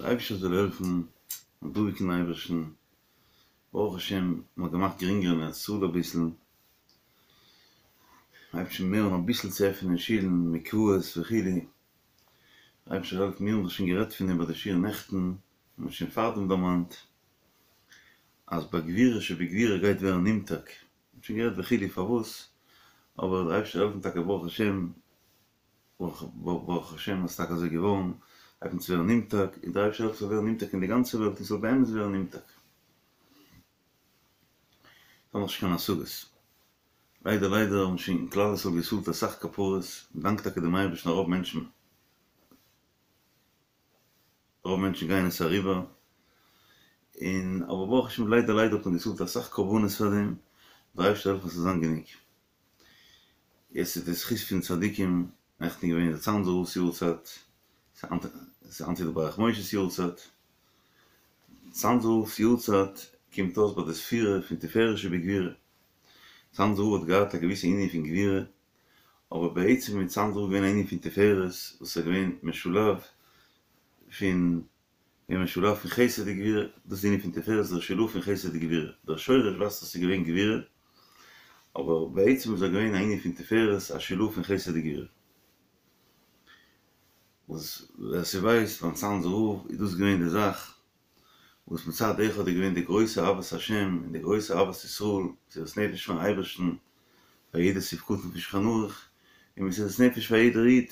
דער אייבערשטער זאל העלפן, מיר דאנקען אייבערשטן, ברוך השם מען האט געמאכט גרינגער אין ארץ ישראל אביסל, מען הייבט שוין מער אן אביסל צו עפענען שילן, מקוואות וכו', דער אייבערשטער זאל העלפן, מיר האבן דאך שוין גערעדט פון דעם ביי די שיעור נעכטן, מען האט שוין פארדעם דערמאנט אז ביי גבורה שבגבורה גייט ווערן נמתק, מען האט שוין גערעדט וכו' פארוואס, אבער דער אייבערשטער זאל העלפן טאקע ברוך השם ברוך השם אז ס'טאקע אזוי געווארן, הייבט אן צו ווערן נמתק, און דער אייבערשטער זאל העלפן ס'זאל ווערן נמתק אין די גאנצע וועלט און ס'זאל באמת ווערן נמתק. כ'האב נאכנישט קיין השגות. ליידער ליידער האבן שוין כלל ישראל געצאלט אסאך כפרות, מ'דאנקט טאקע דעם אייבערשטן רוב מענטשן, רוב מענטשן גייען עס אריבער, און אבער ברוך השם ליידער ליידער האט מען געצאלט אסאך קרבנות פאר דעם, דער אייבערשטער זאל העלפן ס'זאל זיין גענוג. יעצט איז די זכות פון צדיקים, נעכטן געווען די צאנזער רב'ס יארצייט, ס'איז היינט די ברך משה'ס יארצייט, צאנזער רב'ס יארצייט קומט אויס ביי די ספירה פון תפארת שבגבורה, צאנזער רב האט געהאט א געוויסע ענין פון גבורה, אבער בעצם איז צאנזער רב געווען א ענין פון תפארת וואס איז געווען משולב פון געווען משולב פון חסד וגבורה, דאס איז די ענין פון תפארת דער שילוב פון חסד וגבורה, דער שורש ווייזט אז ס'איז געווען גבורה, אבער בעצם איז ער געווען א ענין פון תפארת א שילוב פון חסד וגבורה. וואס ווער ס'ווייסט ביים צאנזער רב איז דאס געווען די זאך, וואס מצד אחד איז געווען די גרויסע אהבת השם און די גרויסע אהבת ישראל, מסירת נפש פארן אייבערשטן פאר יעדע סעיף קטן פון שולחן ערוך, און מסירת נפש פאר יעדער איד,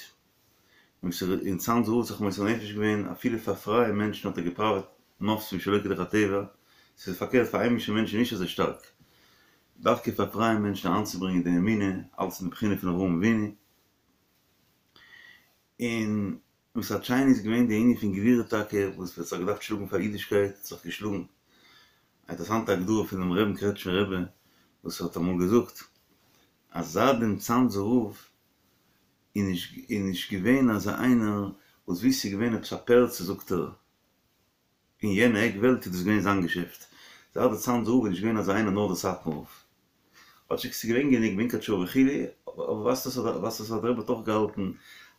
און צאנזער רב האט זיך מוסר נפש געווען אפילו פאר פרייע מענטשן האט ער געפראוועט מופתים שלא כדרך הטבע, ס'איז פארקערט פאר היימישע מענטשן נישט אזוי שטארק, דווקא פאר פרייע מענטשן אריינצוברענגען די אמונה, אלץ אין די בחינה פון אברהם אבינו, און מצד שני איז געווען די ענין פון גבורה טאקע וואס האט זיך געדארפט שלאגן פאר אידישקייט האט זיך געשלאגן, א אינטערעסאנטע הגדרה פונעם רבין קרעטשמער רבי וואס האט אמאל געזאגט אז זייט דעם צאנזער רב איז נישט איז נישט געווען אזא איינער וואס ווי ס'איז געווען עפעס א פרצה זאגט ער אין יענע עק וועלט איז דאס געווען זיין געשעפט זייט די צאנזער רב איז נישט געווען אזא איינער נאר די סאטמאר רב כאטשיג ס'איז געווען גענוג מונקאטשער וכו' אבער ווייזט אויס ווייזט אויס אז דער רבי האט אויך געהאלטן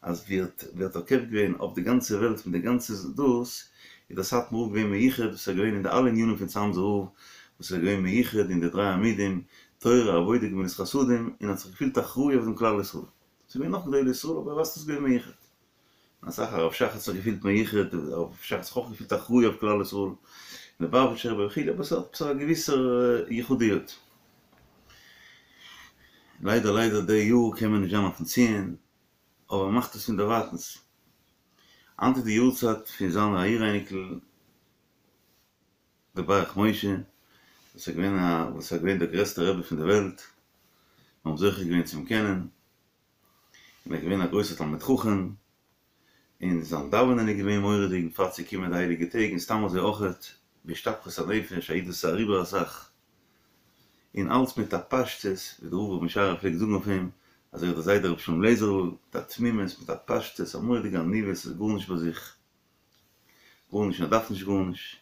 אז ווי ער האט ווי ער האט תוקף געווען אויף די גאנצע וועלט מיט די גאנצע דאס איז דער סאטמאר רב געווען מיוחד וואס איז געווען אין די אלע ענינים פון צאנזער רב וואס איז געווען מיוחד אין די דריי עמודים תורה עבודה גמילות חסדים און האט זיך געפילט אחראי אויף דעם כלל ישראל. ס'איז געווען נאך גדולי ישראל אבער ווייזט אויס געווען מיוחד. אסאך הרב שך האט זיך געפילט מיוחד, הרב שך האט זיך אויך געפילט אחראי אויף כלל ישראל, ליובאוויטשער רבי וכו', אבער ס'האט עפעס א געוויסער יחודיות. ליידער ליידער די יאר קען מען נישט זיין אויפן ציון, אבער מ'מאכט עס פון דערווייטענס. היינט איז די יארצייט פון זיין א אור-אייניקל דער ברך משה, וואס איז געווען א וואס איז געווען דער גרעסטער רבי פון די וועלט, מיר האבן זוכה געווען צו אים קענען, און ער איז געווען א גרויסער תלמיד חכם, און זיין דאווענען איז געווען מורא'דיג, בפרט ס'קומען די הייליגע טעג, און סתם אזוי אויכעט, בהשתפכות הנפש, א איד וואס איז אריבער אסאך, און אלץ מיט א פשטות, ווי דער רב ר' משרע פלעגט זאגן אויף אים, אז ער איז דער זיידע רבי שלום לעזער'ל, מיט א תמימות, מיט א פשטות, א מורא'דיגע עניוות, ס'איז גארנישט ביי זיך. גארנישט און ער דארף נישט גארנישט,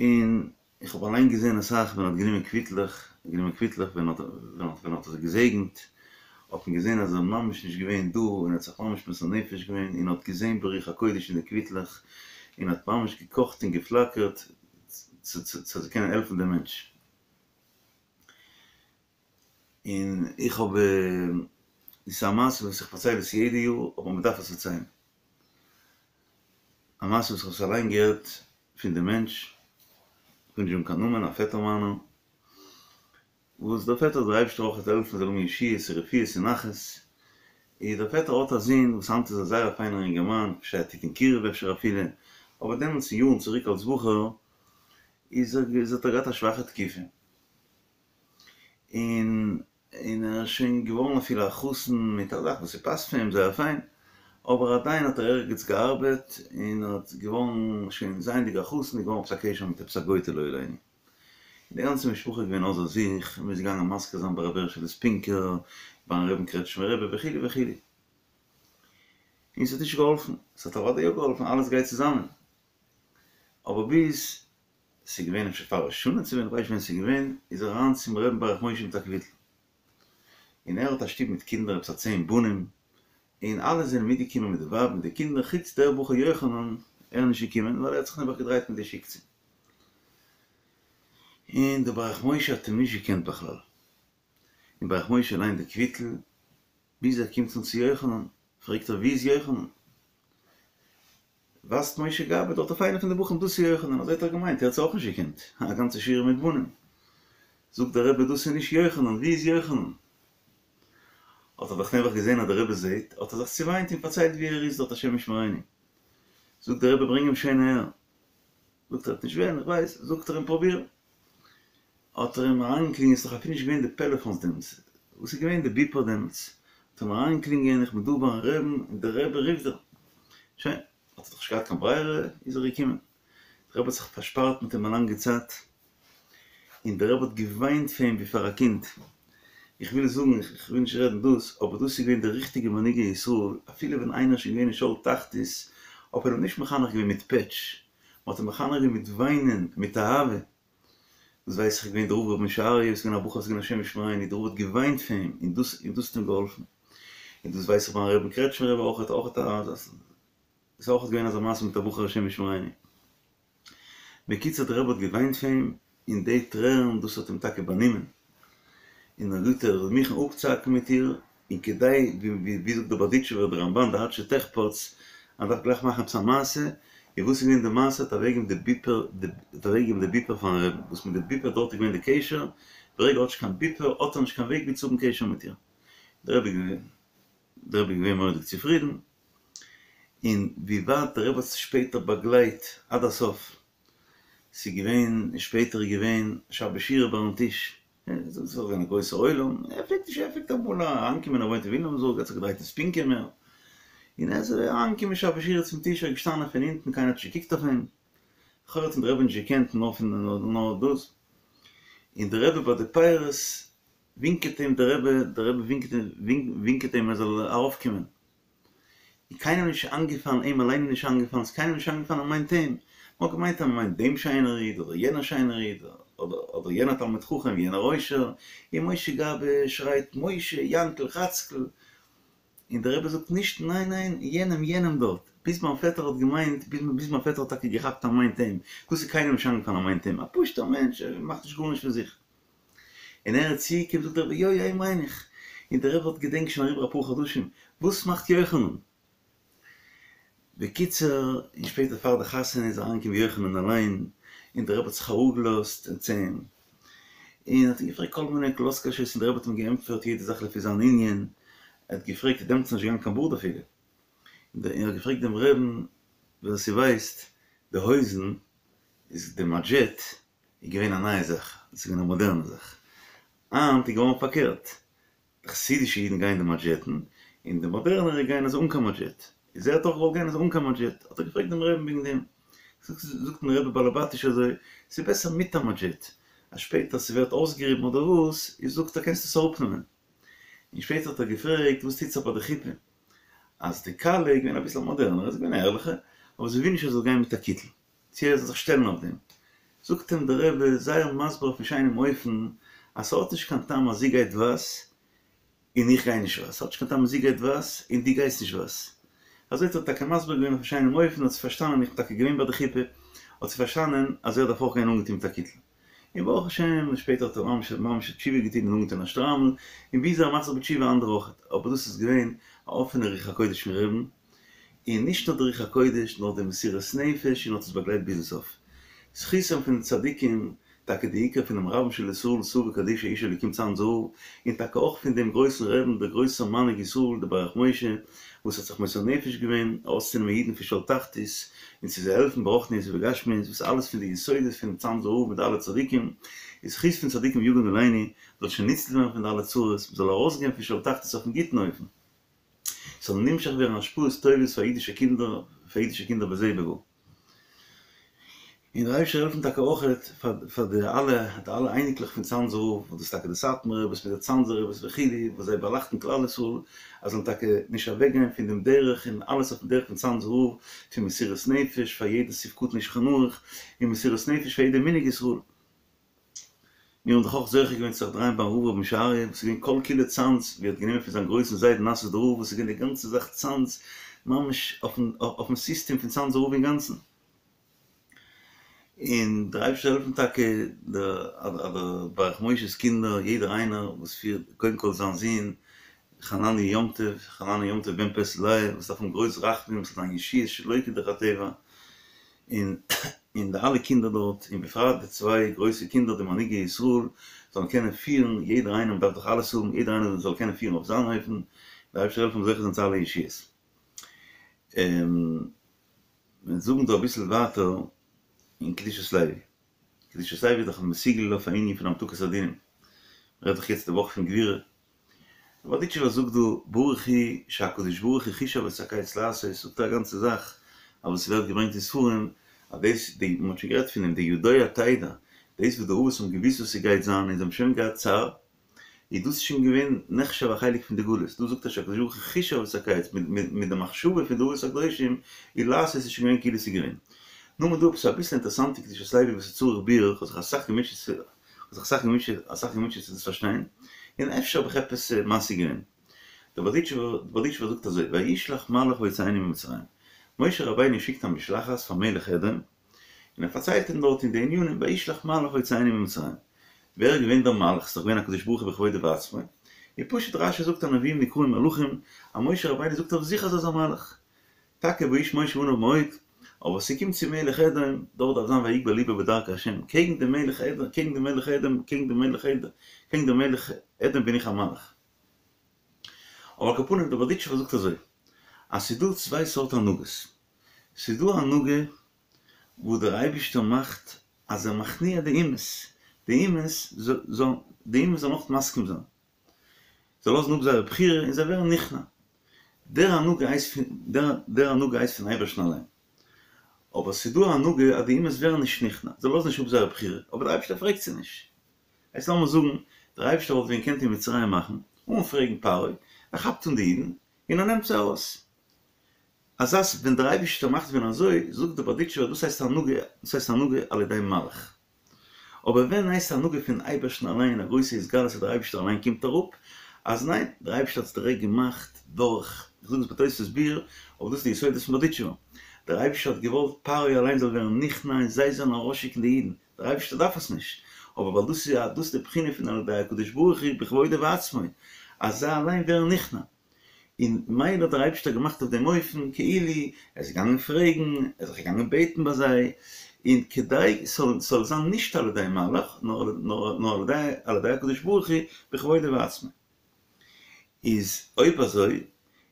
און איך האב אליין געזען אסאך ווען ער האט גענומען קוויטלעך, גענומען קוויטלעך ווען ער האט ווען ער האט עס געזעגנט, האט מען געזען אז ער איז ממש נישט געווען דא און ער האט זיך ממש מוסר נפש געווען און האט געזען ברוח הקודש אין די קוויטלעך און האט ממש געקאכט און געפלאקערט צו צו צו קענען העלפן דעם מענטש. און איך האב, דאס איז א מעשה וואס איך פארצייל עס יעדע יאר, אבער מען דארף עס פארציילן. א מעשה וואס איך האב עס אליין געהערט פון די מענטש, כ'וויל נישט זאגן קיין נאמען, א פעטער מיינער, וואס דער פעטער דער אייבערשטער אויך זאל העלפן זאל האבן ישועות און רפואות און נחת, איז דער פעטער האט א זון וואס היינט איז ער זייער א פיינער אינגערמאן, אפשר ער טוט אין קירוב אפשר אפילו, אבער דעמאלטס יארן צוריק אלס בחור איז ער איז האט ער געהאט א שוואכע תקופה, און און ער איז שוין געווארן אפילו א חתן מיט א זאך וואס ס'פאסט פאר אים זייער פיין, אבער עדיין האט ער ערגעץ געארבעט און האט געווארן שוין זייענדיג א חתן איז געווארן עפעס א קשר מיט עפעס א גויטע לא עלינו. און די גאנצע משפחה איז געווען אויסער זיך, און מ'איז געגאנגען מזכיר זיין ביי רבי הערשעלע ספינקער, ביים רבין קרעטשמער רבי וכו' וכו'. און ס'האט נישט געהאלפן, ס'האט אוודאי יא געהאלפן, אלעס גייט צוזאמען. אבער ביז ס'איז געווען אפשר פאר ראש השנה צו ווען, כ'ווייס נישט ווען ס'איז געווען, איז ער אריין צום רבין ברך משה מיט א קוויטל. און ער האט א שטוב מיט קינדער, עפעס א צען בנים, און אלע זענען מיטגעקומען מיט די ווייב מיט די קינדער, חוץ דער בחור יוחנן. ער איז נישט געקומען ווייל ער האט זיך נעבעך געדרייט מיט די שיקצע. און דער ברך משה האט אים נישט געקענט בכלל. און ברך משה ליינט די קוויטל ביז ער קומט אן צו יוחנן, פרעגט ער וואו איז יוחנן? ווייזט משה גבאי דארט אויף איינע פון די בחורים דאס איז יוחנן, אזוי האט ער געמיינט, ער האט זיי אויך נישט געקענט, א גאנצע שורה מיט בנים. זאגט דער רבי דאס איז נישט יוחנן, וואו איז יוחנן? האט ער דאך נעבעך געזען אז דער רבי זעט, האט ער זיך צעוויינט און פארציילט וואו ער איז דארט השם ישמרינו. זאגט דער רבי ברענג אים שוין אהער. זאגט ער ער וועט נישט וועלן, איך ווייס, זאגט ער אים פרוביר. האט ער אים אריינגעקלינגען, ס'איז דאך אפילו נישט געווען די פעלעפאנס דעמאלטס, וואס איז געווען די ביפער דעמאלטס, האט ער אים אריינגעקלינגען איך בין דא ביים רעבן און דער רבי רופט דיר. שוין, האט ער דאך נישט געהאט קיין ברירה, איז ער געקומען. דער רבי האט זיך פארשפארט מיט אים א לאנגע צייט, און דער רבי האט געוויינט פאר אים ווי פאר א קינד. איך וויל זאגן, איך וויל נישט רעדן דאס, אבער דאס איז געווען די ריכטיגע מנהיגי ישראל, אפילו ווען איינער איז שוין געווען אין שאול תחתית, האט מען אים נישט מחנך געווען מיט פעטש, מען האט אים מחנך געווען מיט וויינען, מיט אהבה. דאס ווייס איך איז געווען דער רב רבי משה אריה, איז געווען א בחור וואס איז געווען השם ישמרינו, דער רב האט געוויינט פאר אים, און דאס און דאס האט אים געהאלפן. און דאס ווייס איך ביים רבין קרעטשמער רבי אויך, אויך א, איז אויך געווען אזא מעשה מיט א בחור השם ישמרינו. בקיצור דער רבי האט געוויינט פאר אים, און די טרערן דאס האט אים טאקע באנומען, און ער זאגט ער איז מוכן אפצוהאקן מיט איר, און כדי, ווי זאגט דער בארדיטשובער דער רמב"ן די עד שתחפץ, אז מ'דארף גלייך מאכן עפעס א מעשה, און וואס איז געווען די מעשה, האט אוועקגעגעבן די ביפער, האט אוועקגעגעבן די ביפער פארן רבין, וואס מיט די ביפער דארט איז געווען די קשר, ברגע ער האט נישט קיין ביפער האט ער נישט קיין וועג ווי צו האבן קשר מיט איר. דער רבי איז געווען דער רבי איז געווען מורא'דיג צופרידן, און ווי ווייט דער רבי האט עס שפעטער באגלייט עד הסוף, ס'איז געווען, און שפעטער איז געווען שבת שירה ביים טיש, ס'איז געווען א גרויסע עולם, ער פלעגט נישט, ער פלעגט אמאל אריינקומען, ער וואוינט אין וויליאמסבורג, ער האט זיך געדרייט אין ספינקא מער, און ער איז אריינגעקומען שבת שירה צום טיש, ער איז געשטאנען פון אונטן, קיינער האט נישט געקוקט אויף אים, לכאורה האט אים דער רבי נישט געקענט נאר פון נאר דאס, און דער רבי ביי די פירות ווינקעט אים דער רבי, דער רבי ווינקעט אים, ווינקעט אים ער זאל ארויפקומען. און קיינעם נישט איינגעפאלן, אים אליין איז נישט איינגעפאלן, ס'איז קיינעם נישט איינגעפאלן אז מ'מיינט אים. מ'האט געמיינט אז מ'מיינט דעם שיינער איד, אדער יענער שיינער איד, אדער אדער יענער תלמיד חכם, יענער עושר. און משה גבאי שרייט, משה, יענקל, חאצקל. און דער רבי זאגט נישט, ניין ניין, יענעם, יענעם דארט. ביז מיין פעטער האט געמיינט, ביז מיין פעטער האט טאקע געכאפט אז מ'מיינט אים. דאס איז קיינעם נישט איינגעפאלן אז מ'מיינט אים. א פשוט'ער מענטש, ער מאכט נישט גארנישט פון זיך. און ער איז צוגעקומען זאגט דער רבי יא יא אים מיין איך, און דער רבי האט געדענקט שוין אריבער אפאר חדשים, וואס מאכט יוחנן? בקיצור, און שפעטער פאר די חתונה איז אריינגעקומען יוחנן אליין, און דער רבי האט זיך אראפגעלאזט צו אים, און האט אים געפרעגט כל מיני קלות קשות, און דער רבי האט אים געענטפערט יעדע זאך לפי זיין ענין, ער האט געפרעגט, דעמאלטס איז נישט געגאנגען קיין בארד אפילו, און ער האט געפרעגט דעם רבין, ווער ס'ווייסט, די הויזן איז די מאנדזשעט איז געווען א נייע זאך, עס איז געווען א מאדערנע זאך. היינט איז געווארן פארקערט, די חסידישע אידן גייען די מאנדזשעטן, און די מאדערנערע גייען אזוי אן קיין מאנדזשעט. איז ער האט אויך געוואלט גיין אזוי אן קיין מאנדזשעט, האט ער געפרעגט דעם רעבען וועגן דעם. זאגט אים דער רבי באלעבאטיש אזוי, ס'איז בעסער מיט א מאנדזשעט, אז שפעטער ס'ווערט אויסגעריבן אדער וואס, איז זאגט ער קענסטו עס אראפנעמען. און שפעטער האט ער געפרעגט וואס טוט זיך ביי די חופה, אז די כלה איז געווען אביסל א מאדערנערע, זי איז געווען א ערליכע, אבער זי וויל נישט ער זאל גיין מיט א קיטל. צו ער זאל זיך שטעלן אויף דעם. זאגט אים דער רבי זייער מסביר אויפן שיינעם אופן אז ס'האט נישט קיין טעם אז זי גייט ווייס און איך גיי נישט ווייס, ס'האט נישט קיין טעם אז זי גייט ווייס און דו גייסט נישט ווייס. אזוי האט ער טאקע מסביר געווען אויפן שיינעם אופן האט זי פארשטאנען, איך בין טאקע געווען ביי די חופה, האט זי פארשטאנען אז ער דארף אויך גיין אנגעטון מיט א קיטל. און ברוך השם שפעטער האט ער ממש ממש תשובה געטון און אנגעטון א שטריימל, און ווי אזוי ער מאכט זיך בתשובה אנדערע אויך, אבער דאס איז געווען א אפענע רוח הקודש פון רעבן, און נישט נאר די רוח הקודש נאר די מסירות נפש און האט עס באגלייט ביזן סוף. זכותם פון די צדיקים, טאקע די עיקר פונעם רבן של ישראל סבא קדישא איש אלוקים צאנזער רב, און טאקע אויך פון דעם גרויסן רעבן דער גרויסער מנהיג ישראל דער ברך משה וואס האט זיך מוסר נפש געווען ארויסצונעמען אידן פון שאול תחתית און צו זיי העלפן ברוחניות ובגשמיות וואס אלעס פון די יסודות פונעם צאנזער רב מיט די אלע צדיקים איז זכות פון צדיקים יגן עלינו זאל שוין ניצל ווערן פון די אלע צרות מ'זאל ארויסגיין פון שאול תחתית אויפן גוטן אופן. ס'זאל נמשך ווערן השפעות טובות פאר אידישע קינדער, פאר אידישע קינדער בזה ובבא. און דער אייבערשטער זאל העלפן טאקע אויכעט פאר פאר די אלע די אלע אייניקלעך פון צאנזער רב, וואס דאס איז טאקע די סאטמאר רביס מיט די צאנזער רביס וכו', וואס זיי באלייכטן כלל ישראל, אז זאלן טאקע נישט אוועקגיין פון דעם דרך און אלעס אויפן דרך פון צאנזער רב, פון מסירות נפש פאר יעדע סעיף קטן אין שולחן ערוך, און מסירות נפש פאר יעדע מנהג ישראל. מיר האבן דאך אויך זוכה געווען צו זיך דרייען ביים רב רבי משה אריה, וואס איז געווען כל כולו צאנז, ווי ער האט גענומען פון זיין גרויסן זיידן נאסוידער רב, וואס איז געווען די גאנצע זאך צאנז, ממש אויפן סיסטעם פון צאנזער רב אינגאנצן. און דער אייבערשטער זאל העלפן טאקע דער ברך משה'ס קינדער יעדער איינער וואס פירט קודם כל זיין זון חנני' יום טוב, חנני' יום טוב בן פעסיל לאה וואס דארף האבן גרויס רחמים ס'זאל זיין ישועות שלא כדרך הטבע, און און די אלע קינדער דארט, און בפרט די צוויי גרויסע קינדער די מנהיגי ישראל, זאלן קענען פירן, יעדער איינער מ'דארף דאך אלעס האבן, יעדער איינער זאל קענען פירן אויף זיין אופן, דער אייבערשטער זאל העלפן זוכה זיין צו אלע ישועות. מיר זאגן דא אביסל ווייטער אין קדושת לוי. קדושת לוי איז דאך מסוגל אויף א ענין פון המתקת הדינים. מ'רעדט דאך יעצט די וואך פון גבורה. דער בארדיטשובער זאגט דא ברוך הוא שהקדוש ברוך הוא חישב את הקץ לעשות, זאגט ער א גאנצע זאך אז וואס ס'ווערט געברענגט אין ספרים אז דאס די מ'האט שוין גערעדט פון דעם די ידוע תדע דאס וואס די אבות האבן געוואוסט וואס ס'גייט זיין און זיי האבן שוין געהאט צער איז דאס שוין געווען נחשב א חלק פון די גלות, דא זאגט ער שהקדוש ברוך הוא חישב את הקץ, מיט די מחשבה פון די אבות הקדושים איז לעשות איז שוין געווען כאילו ס'איז געווען. נאר דא עפעס אביסל אינטערעסאנטע קדושת לוי וואס איז צריך ביאור, כ'האב זיך אסאך געמוטשעט צו כ'האב זיך אסאך געמוטשעט אסאך געמוטשעט צו דאס פארשטיין, און אפשר האב איך עפעס משיג געווען. דער בארדיטשובער זאגט אזוי, וישלח מלאך ויוציאנו ממצרים, משה רבינו שיקט א משלחת פאר מלך אדום, און ער פארציילט אים דארט אין די ענינים וישלח מלאך ויוציאנו ממצרים. ווער איז געווען דער מלאך? ס'איז דאך געווען הקדוש ברוך הוא בכבודו ובעצמו. און פשוט רש"י זאגט הנביאים נקראים מלאכים, אז משה רבינו זאגט אויף זיך אז ער איז א מלאך. טאקע והאיש משה עניו מאוד, אבער ס'קומט צו מלך אדום, דארט דארף זיין ויגבה לבו בדרכי השם, קעגן דעם מלך אדום, קעגן דעם מלך אדום, קעגן דעם מלך אדום, קעגן דעם מלך אדום בין איך א מלאך. אבער על כל פנים דער בארדיטשובער זאגט אזוי, אז ס'איז דא צוויי סארט הנהגות. ס'איז דא א הנהגה וואס דער אייבערשטער מאכט אז ער מכניע די אומות, די אומות זאלן די אומות זאלן אויך מסכים זיין, זיי לאזן אפ זייער בחירה און זיי ווערן נכנע, דער הנהגה הייסט פון דער הנהגה הייסט פון אייבערשטן אליין, אבער ס'איז דא א הנהגה אז די אומות ווערן נישט נכנע, זיי לאזן נישט אפ זייער בחירה, אבער דער אייבערשטער פרעגט זיי נישט, הייסט לאמיר זאגן דער אייבערשטער וואלט ווען געקענט אין מצרים מאכן, אן פרעגן פרעה, ער כאפט אן די אידן און ער נעמט זיי ארויס. אזא ס ווען דער אייבישטער מאכט ווען אזוי, זאגט דער בארדיטשובער דאס הייסט הנהגה, דאס הייסט הנהגה על ידי מלאך. אבער ווען הייסט הנהגה פון אייבערשטן אליין א גרויסע התגלות אז דער אייבישטער אליין קומט אראפ, אז ניין, דער אייבישטער האט עס דירעקט געמאכט דורך, איך זאג עס בתוספות ביאור, אבער דאס איז די יסודות פון בארדיטשובער. דער אייבישטער האט געוואלט פרעה אליין זאל ווערן נכנע און זיי זאלן ארויסשיקן די אידן, דער אייבישטער דארף עס נישט, אבער ווייל דאס איז דאס איז די בחינה פון על ידי הקדוש ברוך הוא בכבודו ובעצמו, אז זיי אליין ווערן נכנע. און מילא האט דער אייבישטער געמאכט אויף דעם אופן כאילו ער איז געגאנגען פרעגן, ער איז זיך געגאנגען בעטן ביי זיי, און כדי ס'זאל זיין נישט על ידי מלאך, נאר על ידי הקדוש ברוך הוא בכבודו ובעצמו. איז אויב אזוי,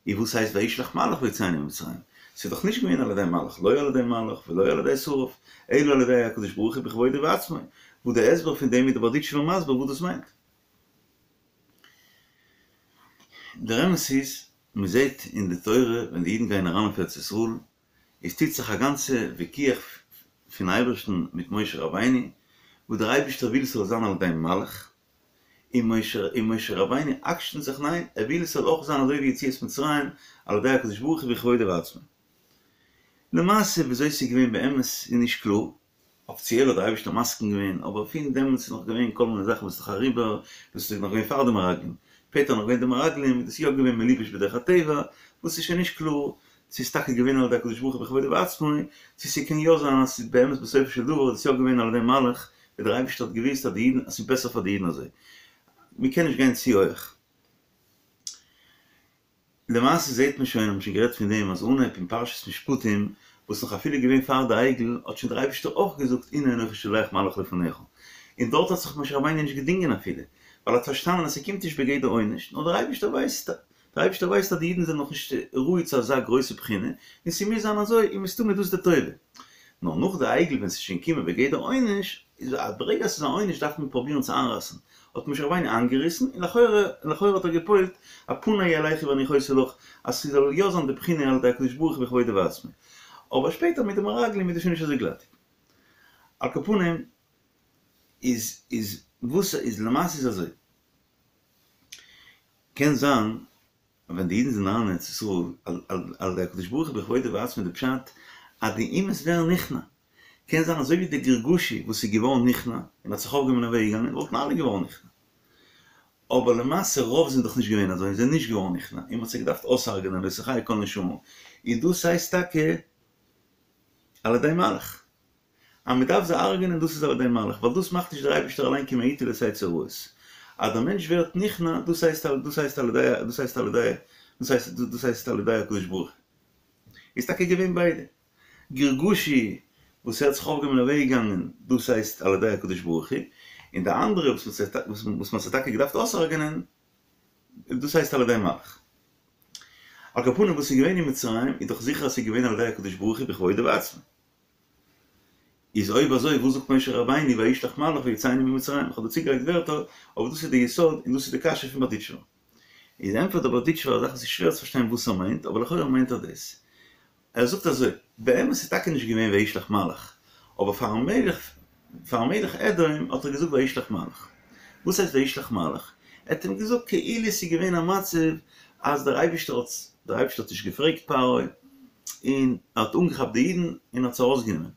איז וואס הייסט וישלח מלאך ויוציאנו ממצרים? ס'איז דאך נישט געווען על ידי מלאך, לא על ידי מלאך ולא על ידי שרף, אלא על ידי הקדוש ברוך הוא בכבודו ובעצמו, וואס דער הסבר פון דעם איז דער בארדיטשובער מסביר וואס דאס מיינט. דער אמת איז, מען זעט אין די תורה ווען די אידן גייען אריין אויף ארץ ישראל, עס טוט זיך א גאנצע וויכוח פון אייבערשטן מיט משה רבינו, וואס דער אייבערשטער וויל ס'זאל זיין על ידי מלאך, און משה און משה רבינו עקשנ'ט זיך ניין, ער וויל עס זאל אויך זיין אזוי ווי יציאת מצרים על ידי הקדוש ברוך הוא בכבודו ובעצמו. למעשה וויאזוי ס'איז געווען באמת איז נישט קלאר, אפיציעל האט דער אייבערשטער מסכים געווען, אבער פון דעמאלטס איז נאך געווען כל מיני זאכן וואס איז נאך אריבער, דאס איז נאך געווען פאר די מרגלים, שפעטער נאך געווען די מרגלים איז דאס יא געווען מלובש בדרך הטבע, וואס איז שוין נישט קלאר צו ס'איז טאקע געווען על ידי הקדוש ברוך הוא בכבודו ובעצמו, צו ס'קען יא זיין אז ס'איז באמת בסופו של דבר איז עס יא געווען על ידי מלאך, ווי דער אייבערשטער האט געוואוסט אז די אידן אז ס'איז בעסער פאר די אידן אזוי. מ'קען נישט גיין צו הויעך. למעשה זעהט מען שוין, האבן שוין גערעדט פון דעם, אז אנהייב אין פרשת משפטים, וואס נאך אפילו געווען פאר די עגל, האט שוין דער אייבערשטער אויך געזאגט הנה אנכי שולח מלאך לפניך, און דארט האט זיך משה רבינו נישט געדינגען אפילו, ווייל ער האט פארשטאנען אז ס'קומט נישט בגדר עונש, נאר דער אייבערשטער ווייסט, דער אייבערשטער ווייסט אז די אידן זענען נאך נישט ראוי צו אזא גרויסע בחינה, און ס'מוז זיין אזוי, און מסתמא איז דאס די טובה. נאר נאך די עגל ווען ס'איז שוין געקומען בגדר עונש, איז א ברגע אז ס'איז א עונש דארף מען פרובירן צו איינרייסן, האט משה רבינו איינגעריסן, און לכאורה לכאורה האט ער געפועלט א פני ילכו והניחותי לך, אז ס'זאל יא זיין די בחינה על ידי הקדוש ברוך הוא בכבודו ובעצמו. אבער שפעטער מיט די מרגלים איז דאס שוין נישט אזוי גלאטיג. על כל פנים איז איז וואס איז למעשה איז אזוי. קען זיין אז ווען די אידן זענען אריין אין ארץ ישראל על ידי הקדוש ברוך הוא בכבודו ובעצמו די פשט אז די אומות ווערן נכנע, קען זיין אזוי ווי די גרגשי וואס איז געווארן נכנע און האט זיך אויפגעהויבן און אוועק געגאנגען וואלטן אלע געווארן נכנע. אבער למעשה רוב זענען דאך נישט געווען אזוי און זענען נישט געווארן נכנע און מ'האט זיי געדארפט אויסהרג'נען לא תחיה כל נשמה, און דאס הייסט טאקע על ידי מלאך. אז מ'דארף זיי הרג'נען דאס איז על ידי מלאך, ווייל דאס מאכט נישט דער אייבערשטער אליין כי מאתו לא תצא רעות. אז דער מענטש ווערט נכנע דאס הייסט דאס הייסט על ידי דאס הייסט על ידי דאס הייסט דאס הייסט על ידי הקדוש ברוך הוא. איז טאקע געווען ביידע. גרגשי וואס ער האט זיך אויפגעהויבן און אוועק געגאנגען, דאס הייסט על ידי הקדוש ברוך הוא, און די אנדערע וואס מען האט זיי טאקע געדארפט אויסהרג'נען, דאס הייסט על ידי מלאך. על כל פנים וואס איז געווען אין מצרים איז דאך זיכער אז ס'איז געווען על ידי הקדוש ברוך הוא בכבודו ובעצמו. איז אויב אזוי וואס זאגט משה רבינו וישלח מלאך ויוציאנו ממצרים? איך האב דא צוגעלייגט ווערטער, אבער דאס איז די יסוד און דאס איז די קשיא פון בארדיטשובער. איז ענטפערט דער בארדיטשובער א זאך וואס איז שווער צו פארשטיין וואס ער מיינט, אבער לכאורה מיינט ער דאס. ער זאגט אזוי, באמת איז טאקע נישט געווען וישלח מלאך, אבער פארן מלך, פארן מלך אדום האט ער געזאגט וישלח מלאך. וואס הייסט וישלח מלאך? ער האט אים געזאגט כאילו ס'איז געווען א מצב אז דער אייבישטער האט, דער אייבישטער האט נישט געפרעגט פרעה, און ער האט אנגעכאפט די אידן און האט זיי ארויסגענומען.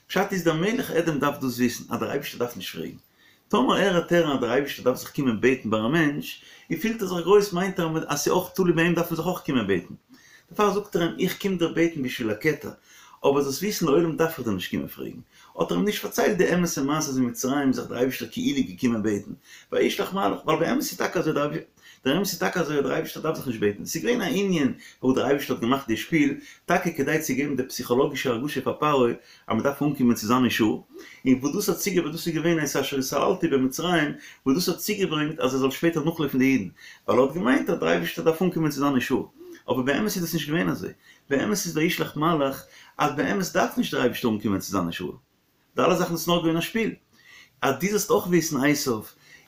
פשט איז דער מלך אדום דארף דאס וויסן אז דער אייבישטער דארף נישט פרעגן. טאמער ער וועט הערן אז דער אייבישטער דארף זיך קומען בעטן ביי א מענטש, און פילט ער זיך גרויס מיינט ער אז ס'איז אויך תלוי ביי אים דארף מען זיך אויך קומען בעטן. דערפאר זאגט ער אים איך קום דיר בעטן בשביל הכתר, אבער זאלסט וויסן לעולם דארף איך דיר נישט קומען פרעגן. האט ער אים נישט פארציילט די אמת'ע מעשה אז אין מצרים איז זיך דער אייבישטער כאילו געקומען בעטן, וישלח מלאך, ווייל באמת איז טאקע אזוי דער דער אמת איז טאקע אזוי אז דער אייבערשטער דארף זיך נישט בעטן, ס'איז געווען א ענין וואו דער אייבערשטער האט געמאכט די שפיל, טאקע כדי צו געבן די פסיכאלאגישע הרגשה פאר פרעה אז מען דארף אנקומען צו זיין אישור, און וואס דאס האט צוגעברענגט, דאס איז געווען את אשר התעללתי במצרים, וואס דאס האט צוגעברענגט אז ער זאל שפעטער נאכלויפן די אידן, ווייל ער האט געמיינט אז דער אייבערשטער דארף אנקומען צו זיין אישור, אבער באמת איז דאס נישט געווען אזוי, באמת איז וישלח מלאך אז באמת דארף נישט דער אייבערשטער אנקומען צו זיין אישור. די אלע זאכן איז נאר געווען א שפיל. אז דו זאלסט אויך וויסן עשיו,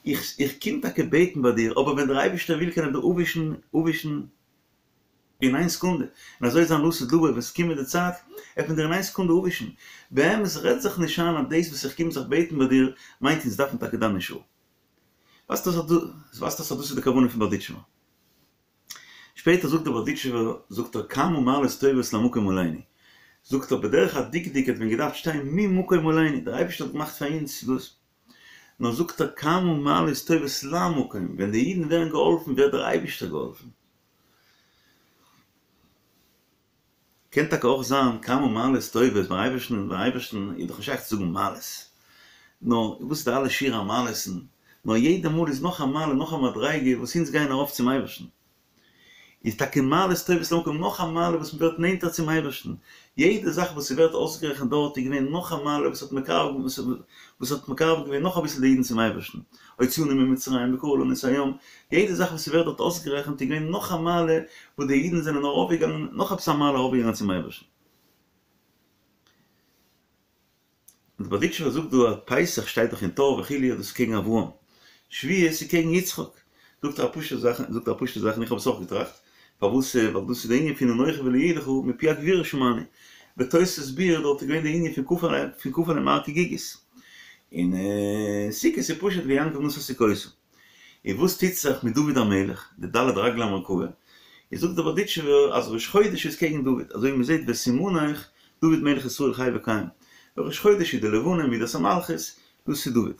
איך איך קום טאקע בעטן ביי דיר, אבער ווען דער אייבערשטער וויל קען ער דיר אפווישן אפווישן אין איין סעקונדע. און אזוי איז זיין לעתיד לבוא, ווען ס'קומט די צייט, עט מען דיר אין איין סעקונדע אפווישן. באמת רעד זיך נישט איין אז דאס וואס איך קום זיך בעטן ביי דיר, מיינט אונז דארפן טאקע דיין אישור. ווייזט אויס אז דאס איז די כוונה פון בארדיטשובער. שפעטער זאגט דער בארדיטשובער, זאגט ער כמה מעלות טובות למקום עלינו, זאגט ער בדרך הדקדוק האט ווען געדארפט שטיין ממקום עלינו, דער אייבערשטער האט געמאכט פאר אונז דאס, נאר זאגט ער כמה מעלות טובות למקום, ווען די אידן ווערן געהאלפן ווערט דער אייבערשטער געהאלפן. קען טאקע אויך זיין כמה מעלות טובות ביים אייבערשטן, ביים אייבערשטן איז דאך נישט שייך צו זאגן מעלות, נאר וואס איז די אלע שיר המעלות'ן, נאר יעדע מאל איז נאך א מעלה נאך א מדריגה וואס אונז גייען ארויף צום אייבערשטן, איז טאקע מעלות טובות למקום נאך א מעלה וואס מען ווערט נענטער צום אייבערשטן, יעדע זאך וואס ס'ווערט אויסגערעכנט דארט איז געווען נאך א מעלה וואס האט מקרב וואס האט מקרב געווען נאך אביסל די אידן צום אייבערשטן. הוציאנו ממצרים וקרע לנו את הים, יעדע זאך וואס ס'ווערט דארט אויסגערעכנט איז געווען נאך א מעלה וואס די אידן זענען ארויפגעגאנגען, נאך עפעס א מעלה ארויפגעגאנגען צום אייבערשטן. און די בארדיטשובער זאגט דא אז פסח שטייט דאך אין טור וכו' אז דאס איז קעגן אברהם, שבועות איז קעגן יצחק, זאגט ער א פשוטע זאך, זאגט ער א פשוטע זאך און איך האב עס אויך געטראכט, פארוואס ווייל דאס איז די ענין פון אנכי ולא יהיה לך מפי הגבורה שמענו, בתוס' ביאור דארט איז געווען די ענין פון פון כפה עליהם הר כגיגית, און סוכות איז פשוט ויעקב נסע סוכותה. און וואס טוט זיך מיט דוד המלך, די ד' רגלי המרכבה, איז זאגט דער בארדיטשובער אז ראש חודש איז קעגן דוד, אזוי ווי מען זעט וסימנך דוד מלך ישראל חי וקיים, ראש חודש איז די לבנה מידת המלכות, דאס איז דוד.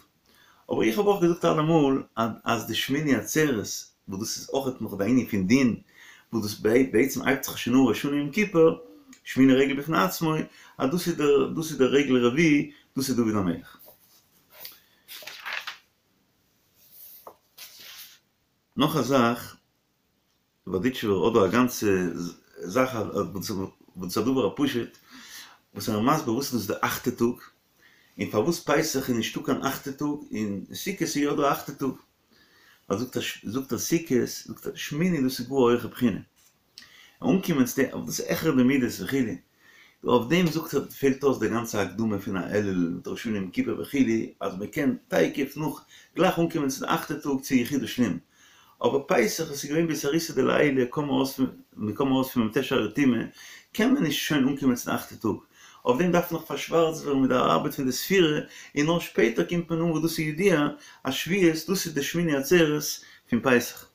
אבער איך האב אויך געזאגט אלעמאל אז די שמיני עצרת, וואס דאס איז אויכעט נאך די ענין פון דין, וואס דאס בעצם הייבט זיך שוין אן ראש השנה יום כיפור, שמיני רגל בפני עצמו, אז דאס איז דער דאס איז דער רגל רביעי, דאס איז דוד המלך. נאך א זאך, בארדיטשובער האט דא א גאנצע זאך וואס איז א דבר הפשוט, וואס ער איז מסביר וואס איז דאס די אכטע טאג, און פארוואס פסח איז נישטא קיין אכטע טאג און סוכות איז יא דא אכטע טאג, ווייל זאגט ער זאגט ער סוכות זאגט ער שמיני דאס איז גאר א הויכע בחינה, אנקומען צו די דאס איז העכער די מידות וכו', אויף דעם זאגט ער פעלט אויס די גאנצע הקדמה פון א אלול מיט ראש השנה יום כיפור וכו' אז מען קען תיכף נאך גלייך אנקומען צו די אכטע טאג צו יחודא שלים, אבער פסח וואס איז געווען באתערותא דלעילא קוים ארויס מען קוים ארויס פון מ"ט שערי טומאה קען מען נישט שוין אנקומען צו די אכטע טאג, אויף דעם דארף נאך פארשווארצט ווערן מיט די ארבעט פון די ספירה און נאר שפעטער קומט מען אן וואס דאס איז ידוע אז שבועות דאס איז די שמיני עצרת פון פסח.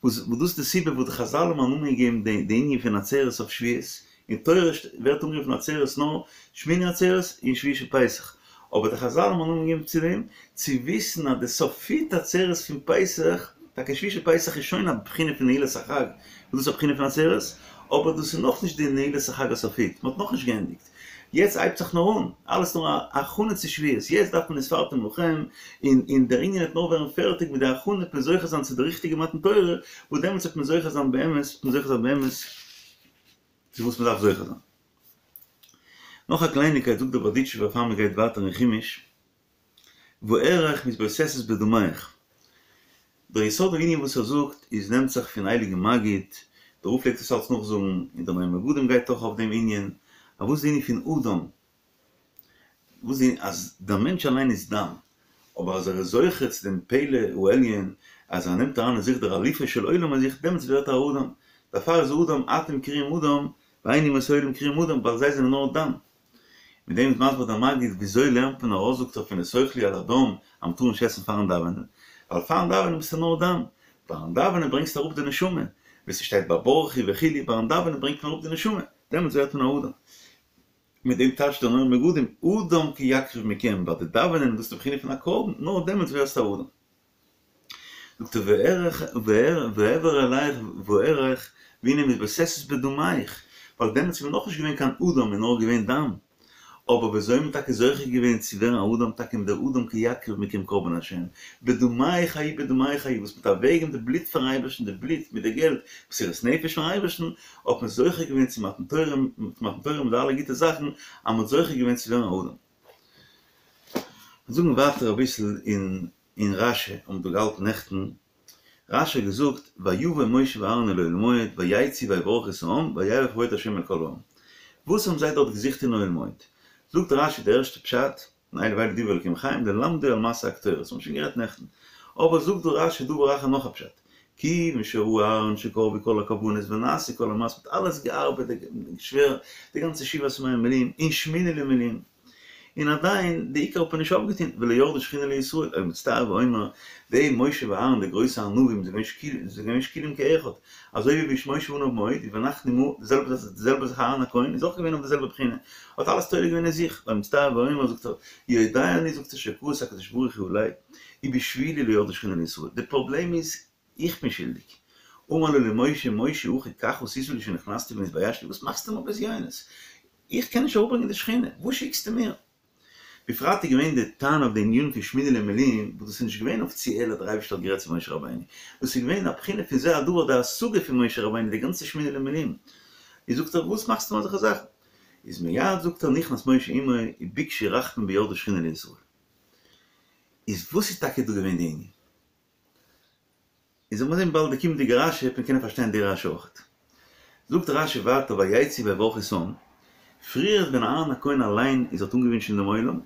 וואס דאס איז די סיבה וואס די חזל האבן א נאמען געגעבן די די ענין פון עצרת אויף שבועות, אין תורה ווערט אנגערופן עצרת נאר שמיני עצרת און שביעי של פסח, אבער די חזל האבן א נאמען געגעבן צו דעם, צו וויסן אז די סופית עצרת פון פסח, טאקע שביעי של פסח איז שוין א בחינה פון נעילת החג, וואס דאס איז א בחינה פון עצרת, אבער דאס איז נאכנישט די נעילת החג הסופית, מען האט נאכנישט געענדיגט, יעצט הייבט זיך נאר אן, אלעס נאר א הכנה צו שבועות, יעצט דארף מען וספרתם לכם, און און דער ענין וועט נאר ווערן פערטיג מיט די הכנה וועט מען זוכה זיין צו די ריכטיגע מתן תורה, וואס דעמאלטס וועט מען זוכה זיין באמת, וועט מען זוכה זיין באמת צו וואס מען דארף זוכה זיין. נאך א קלייניקייט זאגט דער בארדיטשובער פאר מען גייט ווייטער אין חומש, ואראך מתבוססת בדמיך. דער יסוד הענין וואס ער זאגט איז נעמט זיך פון הייליגן מגיד, דער רב פלעגט עס אלץ נאכזאגן, און דער נועם מגדים גייט אויך אויף דעם ענין, אז וואס איז די ענין פון אדם, וואס איז אז דער מענטש אליין איז דם, אבער אז ער איז זוכה צו דעם פלא העליון, אז ער נעמט אריין אין זיך דער אלופו של עולם אין זיך, דעמאלטס ווערט ער א אדם, דערפאר איז אדם אתם קרויים אדם, ואין אומות העולם קרויים אדם, ווייל זיי זענען נאר דם. מיט דעם איז מסביר דער מגיד וויאזוי לערנט מען ארויס זאגט ער פון לא תאכלו על הדם אז מ'טאר נישט עסן פארן דאווענען, ווייל פארן דאווענען ביסטו נאר דם, ביים דאווענען ברענגסטו אראפ די נשמה, ווי ס'שטייט ביי ברכו וכו', ביים דאווענען ברענגט מען אראפ די נשמה, דעמאלטס ווערט מען א אדם. מיט דעם טייטשט דער נועם מגדים אדם כי יקריב מכם, ביי די דאווענען איז דאס די בחינה פון א קרבן, נאר דעמאלטס ווערסטו א אדם. זאגט ער ואעבור עליך ואראך והנה מתבוססת בדמיך, ווייל דעמאלטס איז מען נאכנישט געווען קיין אדם איז נאר געווען דם, אבער וויאזוי איז מען טאקע זוכה געווען צו ווערן א אדם טאקע מיט דער אדם כי יקריב מכם קרבן השם, בדמיך ההיא בדמיך ההיא וואס מ'האט אוועקגעגעבן די בלוט פארן אייבערשטן די בלוט מיט די געלט מסירת נפש פארן אייבערשטן האט מען זוכה געווען צו מתן תורה מתן תורה מיט די אלע גוטע זאכן אז מ'האט זוכה געווען צו ווערן א אדם. זאגן ווייטער אביסל אין אין רש"י האבן דא געהאלטן נעכטן, רש"י האט געזאגט ויבא משה ואהרן אל אוהל מועד ויצאו ויברכו את העם וירא כבוד ה' אל כל העם. וואס האבן זיי דארט געזוכט אין אוהל מועד? זאגט רש"י די ערשטע פשט, און אלו ואלו דברי אלקים חיים ללמדו על מעשה הקטורת, האבן שוין גערעדט נעכטן, אבער זאגט דא רש"י דבר אחר נאך א פשט, כיוון שראה אהרן שקרבו כל הקרבנות ונעשו כל המעשים, מ'האט אלעס געארבעט שווער די גאנצע שבעת ימי המילואים און שמיני למילואים, און עדיין די עיקר האט מען נישט אויפגעטון, ולא ירדה שכינה לישראל, היה מצטער ואומר, די משה ואהרן די גרויסע ענווים זענען געווען שקולים כאחד, אזוי ווי משה עניו מאוד, ואנחנו מה, די זעלבע זאך די זעלבע זאך אהרן הכהן איז אויך געווען אויף די זעלבע בחינה, האט אלעס תולה געווען אין זיך, היה מצטער ואומר זאגט ער, יודע אני זאגט ער שכעס הקדוש ברוך הוא עלי, ובשבילי לא ירדה שכינה לישראל, די פראבלעם איז איך בין שולדיג. אמר לו למשה, משה אחי, כך עשית לי שנכנסתי ונתביישתי, וואס מאכסטו מיר בזיונות? איך קען נישט אראפברענגען די שכינה, וואס שיקסטו מיר? בפרט איז געווען די טענה אויף די ענין פון שמיני למילואים, וואס דאס איז נישט געווען אפיציעל אז דער אייבערשטער האט גערעדט צו משה רבינו, דאס איז געווען א בחינה פון זה הדבר די השגה פון משה רבינו די גאנצע שמיני למילואים. איז זאגט ער, וואס מאכסטו מיר אזעלכע זאכן? איז מיד זאגט ער נכנס משה עמו וביקשו רחמים וירדה שכינה לישראל. איז וואס איז טאקע דא געווען די ענין? איז זאל מען זען באלד די קומענדיגע רשי וועט מען קענען פארשטיין די רשי אויכעט. זאגט רשי ווייטער ויצאו ויברכו את העם, פריער ווען אהרן הכהן אליין איז האט אנגעווינטשען דעם עולם,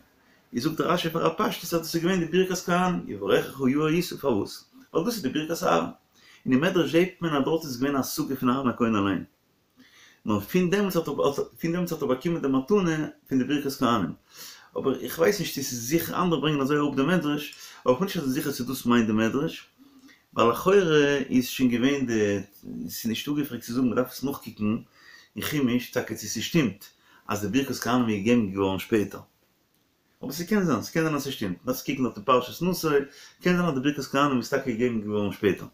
איז זאגט רשי פאר א פשטות אז דאס איז געווען די ברכת כהנים, יברכך יאר ישא, פארוואס? ווייל דאס איז די ברכת אהרן. און אין מדרש זעט מען אז דארט איז געווען א השגה פון אהרן הכהן אליין. נאר פון דעמאלטס האט ער פון דעמאלטס האט ער באקומען די מתנה פון די ברכת כהנים. אבער איך ווייס נישט צו ס'איז זיכער, אנדערע ברענגען אזוי אראפ די מדרש, אבער כ'בין נישט אזוי זיכער צו דאס מיינט די מדרש, ווייל לכאורה איז שוין געווען די, ס'איז נישט אפגעפרעגט צו זאגן, מ'דארף עס נאכקוקן אין חומש טאקע צו ס'שטימט אז די ברכת כהנים איז געגעבן געווארן שפעטער. אבער ס'קען זיין, ס'קען זיין אז ס'שטימט, מ'דארף עס קוקן דארט אין פרשת נשא, קען זיין אז די ברכת כהנים איז טאקע געגעבן געווארן שפעטער.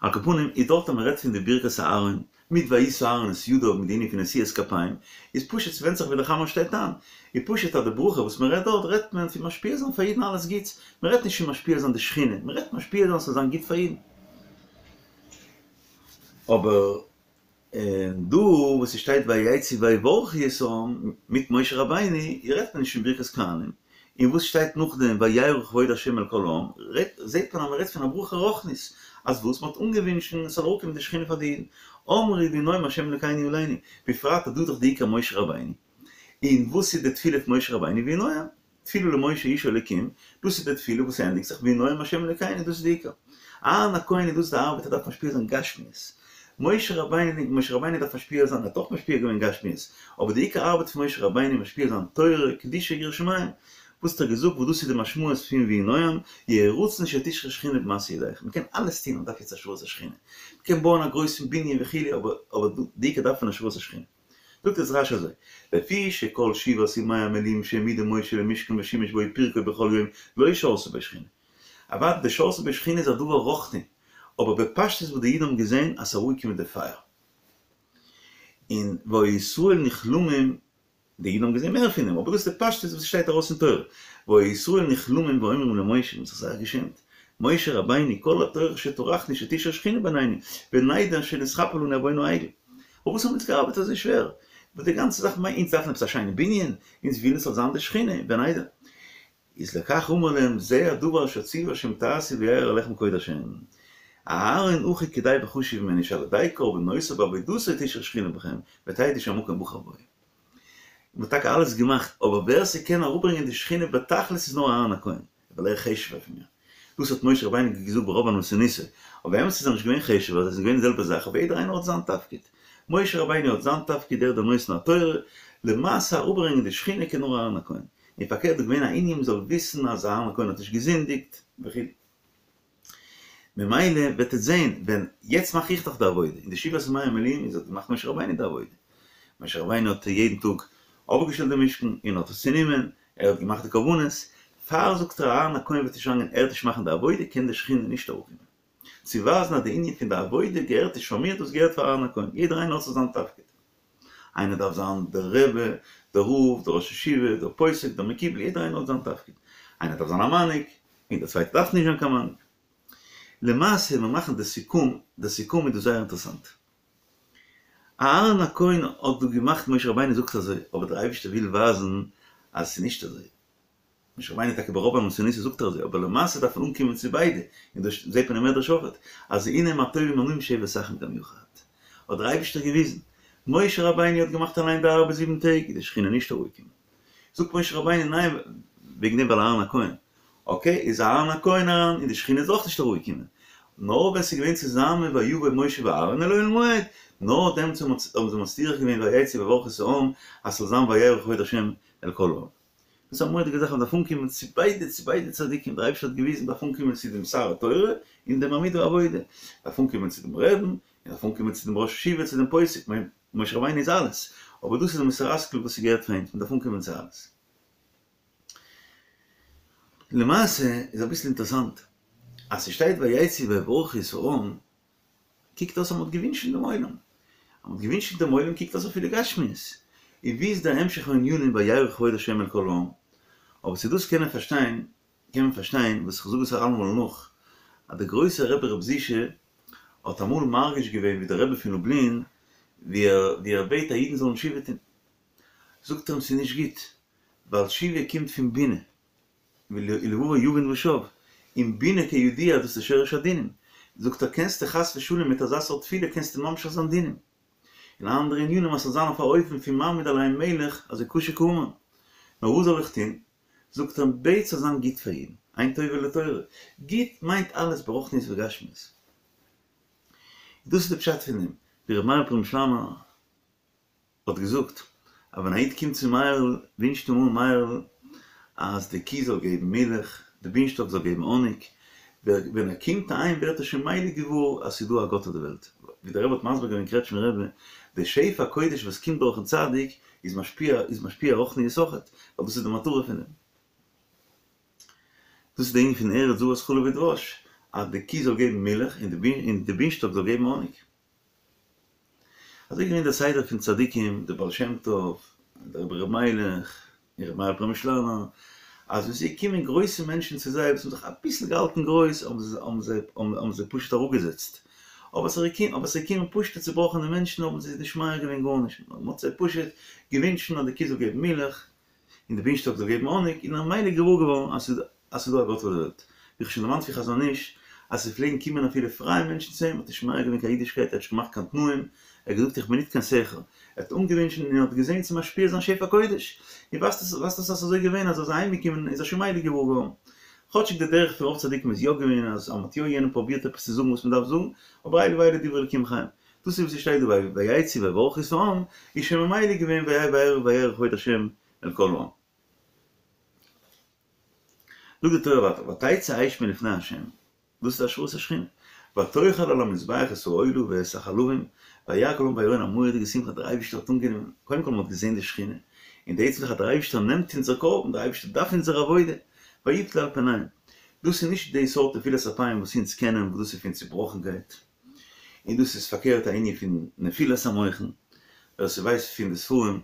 על כל פנים איז דארט אז מען רעדט פון די ברכת אהרן מיט וישא אהרן את ידיו מיט די ענין פון נשיאת כפיים, איז פשוט ס'ווענדט זיך ווי די חמה שטייט איין, איז פשוט אז די ברכה וואס מען רעדט דארט רעדט מען פון משפיע זיין פאר אידן אלעס גוטס, מען רעדט נישט פון משפיע זיין די שכינה, מען רעדט משפיע זיין ס'זאל זיין גוט פאר אידן. אבער און דא וואס ס'שטייט ויצאו ויברכו את העם מיט משה רבינו רעדט מען נישט פון ברכת כהנים, און וואס שטייט נאכדעם וירא כבוד ה' אל כל העם זעט מען אז מ'רעדט פון א ברכה רוחנית, אז וואס מ'האט אנגעווינטשן עס זאל אראפקומען די שכינה פאר די אידן, אמרו ויהי נועם ה' אלוקינו עלינו, בפרט אז דא איז דאך די עיקר משה רבינו, און וואס איז די תפילה פון משה רבינו ויהי נועם? תפילה למשה איש האלוקים, דאס איז די תפילה וואס ענדיגט זיך ויהי נועם ה' אלוקינו, דאס איז די עיקר. אהרן הכהן איז דאס די ארבעט ער דארף משפיע זיין גשמיות. משה רבינו, משה רבינו דארף משפיע זיין, ער האט אויך משפיע געווען גשמיות, אבער די עיקר ארבעט פון משה רבינו איז משפיע זיין תורה, קדושה, יראת שמים. וואס האט ער געזאגט וואס דאס איז די משמעות פון ויהי נועם, יהי רצון שתשרה שכינה במעשה ידיכם. מען קען אלעס טון, מען דארף יעצט השראת השכינה. מען קען בויען א גרויסן בנין וכו', אבער אבער די עיקר דארף מען השראת השכינה. זאגט יעצט רש"י אזוי, לפי שכל שבעת ימי המילואים שהעמידו משה למשכן ושימש בו ופרקו בכל יום לא שרתה בו שכינה. אוודאי די שרתה בו שכינה איז א דבר רוחני, אבער בפשטות וואס די אידן האבן געזען אז ס'איז אראפגעקומען די פייער. און והיו ישראל נכלמים די אידן האבן געזען מער פון דעם, אבער דאס איז די פשטות וואס שטייט ארויס אין תורה, והיו ישראל נכלמים ואומרים למשה, מ'האט זיך זייער געשעמט, משה רבינו, כל הטורח שטרחנו שתשרה שכינה בינינו, ונדע שנתכפר לנו עוון העגל. פארוואס האבן אונז געארבעט אזוי שווער? וואס די גאנצע זאך מיינט, אונז דארפן עפעס א שיינע בנין, אונז ווילן ס'זאל זיין די שכינה, ונדע. איז לכך אמר להם זה הדבר אשר ציוה השם תעשו וירא עליכם כבוד השם. אהרן אחי כדאי וחשוב ממני שעל ידי קרבנותיו ועבודתו תשרה שכינה בכם ותדעו שהמקום בחר בו. מען האט טאקע אלעס געמאכט אבער ווער ס'קען אראפברענגען די שכינה בתכלית איז נאר אהרן הכהן ווייל ער איז חשוב'ער פון מיר. דאס האט משה רבינו געזאגט ברוב ענוותנותו, אבער באמת איז ער נישט געווען חשוב'ער זיי זענען געווען די זעלבע זאך אבער יעדער איינער האט זיין תפקיד. משה רבינו האט זיין תפקיד ער איז דער נותן התורה, למעשה אראפברענגען די שכינה קען נאר אהרן הכהן. און פארקערט איז געווען א ענין מ'זאל וויסן אז אהרן הכהן האט נישט געזינדיגט וכו'. ממילא וועט עטס זעהן ווען יעצט מאך איך דאך די עבודה, אין די שבעת ימי המילואים איז האט געמאכט משה רבינו די עבודה. משה רבינו האט יעדן טאג אויפגעשטעלט די משכן און האט עס צונומען, ער האט געמאכט די קרבנות, פאר זאגט ער אהרן הכהן וועט נישט אריינגיין ער וועט נישט מאכן די עבודה קען די שכינה נישט אראפקומען. צו ווייזן אז די ענין פון די עבודה געהערט נישט פאר מיר דאס געהערט פאר אהרן הכהן, יעדער איינער האט זיך זיין תפקיד. איינער דארף זיין דער רבי, דער רב, דער ראש ישיבה, דער פוסק, דער מקובל, יעדער איינער האט זיין תפקיד. איינער דארף זיין א מנהיג, און דער צווייטער דארף נישט זיין קיין מנהיג. למעשה מיר מאכן די סיכום, די סיכום איז דא זייער אינטערעסאנט. אהרן הכהן האט דא געמאכט משה רבינו זאגט אזוי, אבער דער אייבערשטער וויל ווייזן אז עס איז נישט אזוי. משה רבינו טאקע ברוב ענוותנותו זאגט ער אזוי, אבער למעשה דארף מען אנקומען צו ביידע, און דאס זעט מען אין מדרש אויכעט, אז הנה מה טובו מה נעים שבת אחים גם יחד, האט דער אייבערשטער געוויזן, משה רבינו האט געמאכט אליין די ארבעט זיבן טעג, איז די שכינה נישט אראפגעקומען. זאגט משה רבינו ניין, וועגן דעם ווייל אהרן הכהן, אקעי, איז אהרן הכהן אריין און די שכינה איז אויך נישט אראפגעקומען, נאר ווען ס'איז געווען צוזאמען ויבא משה ואהרן אל אוהל מועד, נאר דעמאלטס האבן זיי מצליח געווען ויצאו ויברכו את העם אז ס'זאל זיין וירא כבוד השם אל כל העם. דאס איז א מורא'דיגע זאך אז מ'דארף אנקומען צו ביידע, צו ביידע צדיקים, דער אייבערשטער האט געוויזן מ'דארף אנקומען צו דעם שר התורה און דעם עמוד העבודה, מ'דארף אנקומען צו דעם רעבן, און מ'דארף אנקומען צו דעם ראש ישיבה, צו דעם פוסק, כ'מיין משה רבינו איז אלעס, אבער דאס איז די מוסר השכל וואס ס'געהערט פאר אונז, מ'דארף אנקומען צו אלעס. למעשה איז אביסל אינטערעסאנט אז ס'שטייט ויצאו ויברכו את העם, קוקט אויס אז מ'האט געווינטשן דעם עולם. אז מ'האט געווינטשן דעם עולם קוקט אויס אפילו גשמיות. און ווי איז דער המשך הענינים וירא כבוד השם אל כל העם? אבער צו דאס קען מען פארשטיין, קען מען פארשטיין, וואס איך זאג עס אלעמאל נאך, אז דער גרויסער רבי ר' זישע האט אמאל מרגיש געווען ווי דער רבי פון לובלין, ווי ער ווי ער בעט אז אידן זאלן תשובה טון. זאגט ער אים ס'איז נישט גוט, ווייל תשובה קומט פון בינה. ולבבו יבין ושב, און בינה כידוע דאס איז שורש הדינים, זאגט ער קענסטו חס ושלום מיט אזא סארט תפילה קענסטו ממשיך זיין דינים, און אנדערע ענינים אז ס'זאל זיין אויף א אופן פון מעמיד עליהם מלך אזוי קשה כהמן, נאר וואס זאל איך טון? זאגט ער בעט ס'זאל זיין גוט פאר אידן, עין טובה לתורה, גוט מיינט אלעס ברוחניות וגשמיות. דאס איז די פשט פון דעם, ווי ר' מאיר פרעמישלאנער האט געזאגט אז ווען א איד קומט צו מאיר'ל ווינטשט אים אן מאיר'ל אז די קי זאל געבן מילך, די בינשטאק זאל געבן האניג, ווען ער קומט אהיים ווערט ער שוין מילא געוואר אז ס'איז דא א גאט אויף די וועלט, ווי דער רבי האט מסביר געווען אין קרעטשמער רבי, די שפע הקודש וואס קומט דורכן צדיק איז משפיע איז משפיע רוחניות אויכעט, ווייל דאס איז די מטרה פון דעם. דאס איז די ענין פון ארץ זבת חלב ודבש, אז די קי זאל געבן מילך און די בינשטאק זאל געבן האניג. אזוי איז געווען דער סדר פון צדיקים, דער בעל שם טוב, דער רבי ר' מיילעך, און רבי מאיר פרעמישלאנער, אז ווען ס'איז געקומען גרויסע מענטשן צו זיי וואס האבן זיך אביסל געהאלטן גרויס, האבן זיי האבן זיי האבן זיי פשוט אראפגעזעצט, אבער ס'איז געקומען אבער ס'איז געקומען פשוט'ע צובראכענע מענטשן האבן זיי נישט מעיר געווען גארנישט, מ'האט זיי פשוט געווינטשן אז די קו זאל געבן מילך, און די בינשטאק זאל געבן האניג, און איז ממילא געוואר געווארן אז ס'איז אז ס'איז דא א גאט אויף די וועלט. ווי כ'האב שוין דערמאנט פון חזון איש, אז ס'פלעגן קומען אפילו פרייע מענטשן צו אים, האט נישט מעיר געווען קיין אידישקייט, ער האט נישט געמאכט קיין תנאים, ער האט געזאגט איך בין ניט קיין סוחר. ער האט אנגעווינטשן און ער האט געזען צו משפיע זיין שפע קודש. און ווייזט עס ווייזט אויס אז ס'איז אזוי געווען אז ער איז אהיימגעקומען איז ער שוין מילא געוואר געווארן. כאטשיג די דרך פון רוב צדיקים איז יא געווען אז אז מ'האט יא יענעם פרובירט עפעס צו זאגן וואס מ'דארף זאגן, אבער אלו ואלו דברי אלקים חיים. דאס איז וואס ס'שטייט דא ויצאו ויברכו את העם, איז שוין ממילא געווען וירא כבוד השם אל כל העם. זאגט די תורה ווייטער ותצא האש מלפני ה', דאס איז השראת השכינה, ותאכל על המזבח את העולה ואת החלבים, וירא כל העם ויראון א מורא'דיגע שמחה דער אייבערשטער האט אנגענומען, קודם כל מען האט געזען די שכינה, און די עצם זאך אז דער אייבערשטער נעמט אונזער קרבן, דער אייבערשטער דארף אונזער עבודה, ויפלו על פניהם. דאס איז נישט די סארט נפילת אפיים וואס אונז קענען, וואס דאס איז פון צובראכנקייט, און דאס איז פארקערט א ענין פון נפילת המוחין, ווער ס'ווייסט פון די ספרים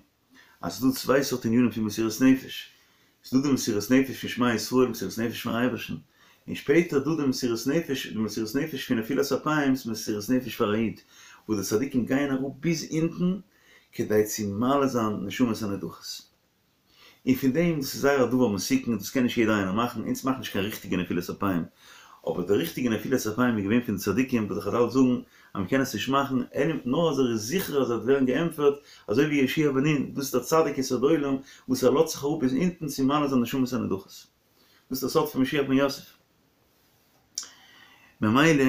אז ס'איז דא צוויי סארט ענינים פון מסירות נפש, ס'איז דא די מסירות נפש פון שמע ישראל, מסירות נפש פארן אייבערשטן, און שפעטער איז דא די מסירות נפש, די מסירות נפש פון נפילת אפיים, מסירות נפש פאר א איד, וואס די צדיקים גייען אראפ ביז אונטן כדי צו מעלה זיין נשמות הנדחות. און פון דעם, דאס איז זייער א דבר מסוכן, דאס קען נישט יעדער איינער מאכן, אונז מאכן נישט קיין ריכטיגע נפילת אפיים, אבער די ריכטיגע נפילת אפיים איז געווען פון די צדיקים וואס די חזל זאגן אז מ'קען עס נישט מאכן, אלא נאר אז ער איז זיכער אז ער וועט ווערן געענטפערט, אזוי ווי יהושע בן נון, דאס איז דער צדיק יסוד עולם וואס ער לאזט זיך אראפ ביז אונטן צו מעלה זיין נשמות הנדחות. דאס איז דער סוד פון משיח בן יוסף. ממילא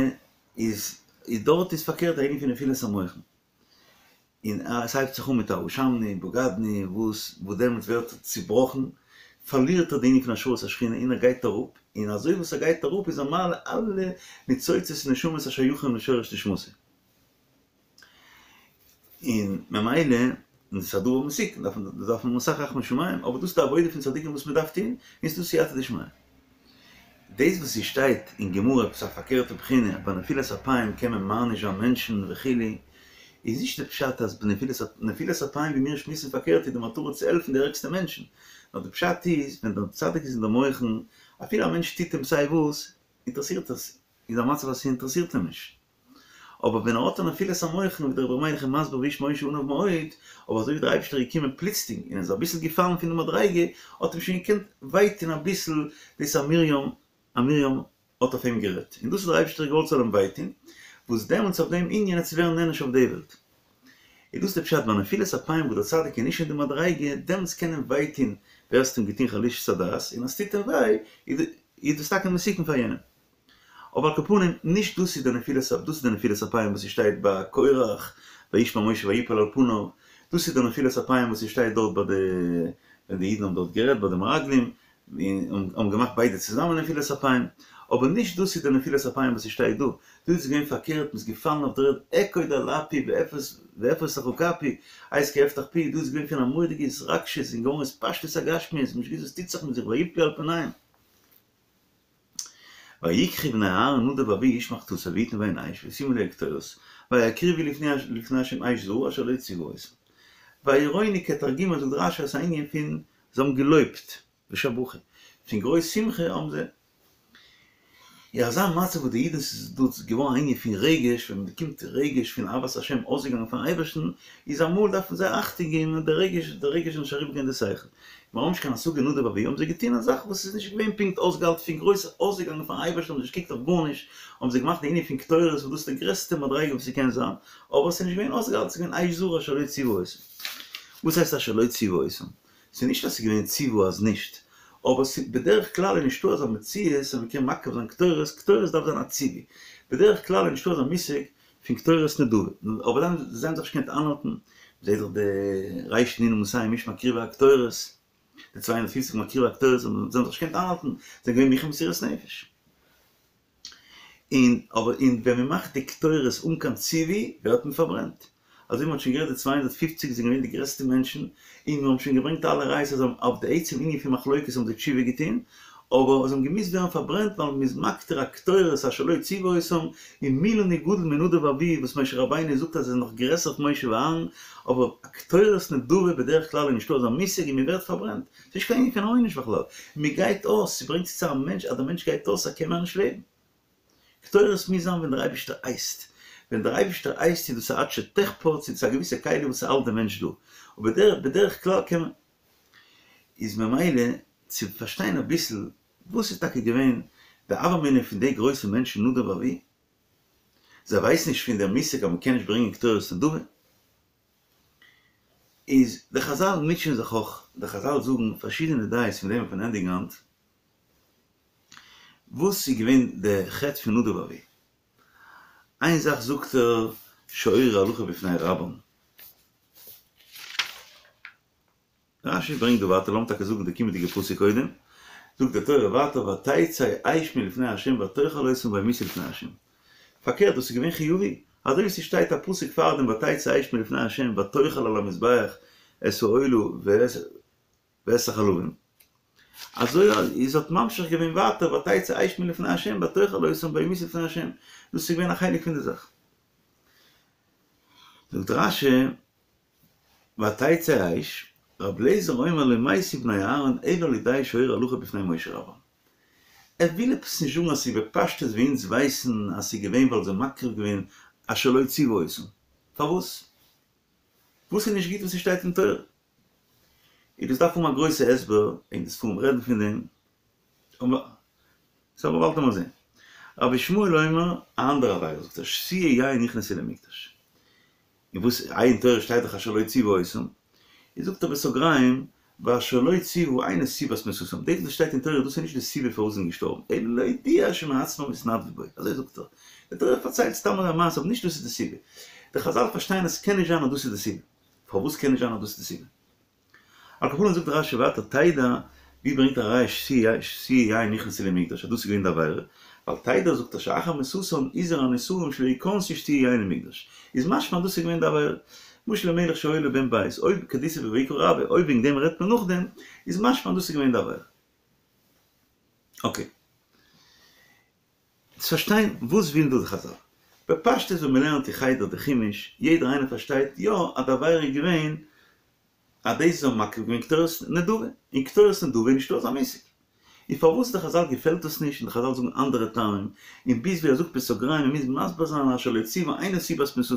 איז דארט איז פארקערט די ענין פון נפילת המוחין. און עס הייבט זיך אן מיט א אשמנו, בגדנו, וואס וואס דעמאלטס ווערט ער צובראכן, פארלירט ער די ענין פון השראת השכינה און ער גייט אראפ, און אזוי וואס ער גייט אראפ איז ער מעלה אלע ניצוצות און נשמות השייכים לשורש נשמתו. און ממילא, און דאס איז א דבר מסוכן, דארף מען דארף מען אסאך רחמי שמים, אבער דאס איז די עבודה פון צדיקים וואס מען דארף טון, און ס'איז דא סייעתא דשמיא. דאס וואס ס'שטייט אין גמרא עפעס א פארקערטע בחינה, ביי נפילת אפיים קען מען מעניש זיין מענטשן וכו', איז נישט די פשט אז בנפילת נפילת אפיים ווי מיר שמועסן פארקערט איז די מטרה צו העלפן די ערגסטע מענטשן, נאר די פשט איז ווען דער צדיק איז אין די מוחין, אפילו א מענטש טוט אים סיי וואס, אינטערעסירט עס, איז א מצב אז ס'אינטערעסירט אים נישט. אבער ווען ער האט א נפילת המוחין ווי דער רבי ר' מיילך איז מסביר והאיש משה עניו מאוד, אבער אזוי ווי דער אייבערשטער איז געקומען פלוצלינג און ער איז אביסל געפאלן פון די מדריגה, האט אים שוין געקענט וויי טון אביסל דאס אז מרים, אז מרים האט אויף אים גערעדט, און דאס האט דער אייבערשטער געוואלט ס'זאל אים וויי טון, וואס דעמאלטס אויף דעם ענין וועט צו ווערן נענש אויף די וועלט. איז דאס די פשט ביי נפילת אפיים וואס דער צדיק איז נישט אין די מדריגה, דעמאלטס קען אים וויי טון ווער עס האט אים געטון חלישת הדעת, און אז ס'טוט אים וויי איז דאס טאקע מסוכן פאר יענעם. אבער על כל פנים, נישט דאס איז די נפילת אפ, דאס איז די נפילת אפיים וואס ס'שטייט ביי קורח, וישמע משה ויפל על פניו, דאס איז די נפילת אפיים וואס ס'שטייט דארט ביי די, ווען די אידן האבן דארט גערעדט ביי די מרגלים, און האבן געמאכט ביידע צוזאמען נפילת אפיים, אבער נישט דאס איז די נפילת אפיים וואס ס'שטייט דא, דא איז געווען פארקערט, מ'איז געפאלן אויף דער ערד, אכוד על אפי ואפס לך כפי, עת כי אפתח פי, דא איז געווען פון א מורא'דיגע התרגשות און געווארן התפשטות הגשמיות, מ'האט נישט געוואוסט וואס טוט זיך מיט זיך ויפלו על פניהם. ויקחו בני אהרן נדב ואביהוא איש מחתתו ויתנו בהן אש וישימו עליה קטורת ויקריבו לפני ה' אש זרה אשר לא צוה אותם. וירונו כתרגומו זאגט רשי אז ס'איז א ענין פון זיי האבן געלויבט ושבחו פון גרויס שמחה האבן זיי אין אזא מצב וואס די אידן ס'איז דא געווארן א ענין פון רגש, ווען מ'באקומט רגש פון אהבת השם אויסגעגאנגען פארן אייבערשטן, איז אמאל דארף מען זייער אכטונג געבן אז די רגש, די רגש זאל נישט אריבערגיין די שכל. מיר האבן נישט קיין השגה נדב ואביהוא האבן זיי געטון א זאך וואס איז נישט געווען פונקט אויסגעהאלטן פון גרויס אויסגעגאנגען פארן אייבערשטן האבן זיי נישט געקוקט אויף גארנישט, האבן זיי געמאכט די ענין פון קטורת וואס דאס איז די גרעסטע מדריגה וואס ס'קען זיין, אבער ס'איז נישט געווען אויסגעהאלטן, ס'איז געווען אש זרה אשר לא צוה אותם. וואס הייסט אשר לא צוה אותם? ס'איז נישט אז ס'איז געווען ציווי אז נישט, אבער בדרך כלל איז נישטא אזא מציאות אז מ'קען מקריב זיין קטורת, קטורת דארף זיין א ציווי, בדרך כלל איז נישטא אזא מושג פון קטורת נדבה, אבער דאן זיי האבן זיך נישט געקענט איינהאלטן, מ'זעט דאך די ריש נון מאתים איש מקריבי הקטורת, די 250 מקריבי הקטורת זיי האבן זיך נישט געקענט איינהאלטן, זיי זענען געווען מוכן מסירות נפש. און אבער און ווען מען מאכט די קטורת אן קיין ציווי ווערט מען פארברענט. אזוי ווי מען האט שוין גערעדט די 250 זענען געווען די גרעסטע מענטשן, און מיר האבן שוין געברענגט אלע ראיות אז אויף די עצם ענין פון מחלוקת האבן זיי תשובה געטון, אבער זיי האבן געמוזט ווערן פארברענט ווייל מען איז מקטיר א קטורת אשר לא ציוה אותם, און מי לנו גדול מנדב ואביהוא וואס משה רבינו זאגט אז ער איז נאך גרעסער פון משה ואהרן, אבער א קטורת נדבה בדרך כלל איז נישטא אזא מושג און מען ווערט פארברענט. ס'איז נישט קיין ענין פון עונש בכלל. מען גייט אויס, ס'ברענגט צו צו א מענטש אז דער מענטש גייט אויס ער קען מער נישט לעבן. קטורת מוז זיין ווען דער אייבערשטער הייסט. ווען דער אייבערשטער הייסט איז דאס א עד שתחפץ, איז דאס א געוויסע כלי וואס ס'האלט דעם מענטש דא. אבער בדרך כלל קען מען. איז ממילא צו פארשטיין אביסל וואס איז טאקע געווען די הוה אמינא פון די גרויסע מענטשן נדב ואביהוא. זיי ווייסן נישט פון דער מושג אז מ'קען נישט ברענגען קטורת נדבה. איז די חזל מוטשען זיך אויך, די חזל זאגן פארשידענע דעות פון דעם וועט מען ענדיגן היינט, וואס איז געווען די חטא פון נדב ואביהוא? איין זאך זאגט ער שהורו הלכה בפני רבם. רשי ברענגט דא ווייטער, לאמיר טאקע זאגן די קומענדיגע פסוק קודם, זאגט די תורה ווייטער ותצא אש מלפני ה' ותאכל אותם וימותו לפני ה'. פארקערט דאס איז געווען חיובי, אזוי ווי ס'שטייט א פסוק פארדעם ותצא האש מלפני ה' ותאכל על המזבח את העולה ואת החלבים, אזוי איז האט ממשיך געווען ווייטער ותצא אש מלפני ה' ותאכל אותם וימותו לפני ה', דאס איז געווען א חלק פון די זאך. זאגט רש"י ותצא אש, ר' אליעזר אומר לא מתו בני אהרן אלא על ידי שהורו הלכה בפני משה רבם. ער וויל עפעס נישט זאגן אז ס'איז בפשטות ווי אונז ווייסן אז ס'איז געווען ווייל זיי מקריב געווען אשר לא ציוה אותם. פארוואס? וואס איז נישט גוט וואס ס'שטייט אין תורה? און דאס דארף האבן א גרויסע הסבר, און די ספרים רעדן פון דעם, אבער סאו באלד וועלן מיר זען. רבי ישמעאל אומר, א אנדערע עבירה זאגט ער, שתויי יין נכנסו למקדש. און וואס איי אין תורה שטייט דאך אשר לא ציוה אותם, איז זאגט ער בסוגריים, ואשר לא ציוה אינו סיבת מיתתם, דאס וואס שטייט אין תורה דאס איז נישט די סיבה פארוואס זיי זענען געשטארבן, אלא להודיע שמעצמם התנדבו בו, אזוי זאגט ער, די תורה פארציילט סתם אזא מעשה אבער נישט דאס איז די סיבה, די חזל פארשטייען אז ס'קען נישט זיין אז דאס איז די סיבה, פארוואס קען נישט זיין אז דאס איז די סיבה? על כל פנים זאגט רש"י ווייטער תדע, ווי ברענגט א ראיה שתויי יין נכנסו למקדש אז דאס איז געווען די עבירה, ווייל תדע זאגט ער שאחר מיתתם הזהיר הנשאים שלא יכנסו שתויי יין למקדש, איז משמע אז דאס איז געווען די עבירה. משל למלך שהיה לו בן בית, אויב כדאיתא בויקרא רבה, אויב וועגן דעם רעדט מען נאכדעם, איז משמע אז דאס איז געווען די עבירה. אקעי. צו פארשטיין וואס ווילן דא די חזל. בפשטות ווען מ'לערנט אין חדר די חומש, יעדער איינער פארשטייט יא אז די עבירה איז געווען אז דאס זיי האבן מקריב געווען קטורת נדבה, און קטורת נדבה איז נישטא אזא מושג. און פארוואס די חזל געפעלט דאס נישט, און די חזל זאגן אנדערע טעמים, און ביז ווי ער זאגט בסוגריים מען מוז מסביר זיין אשר לא ציוה אינו סיבת מיתתם,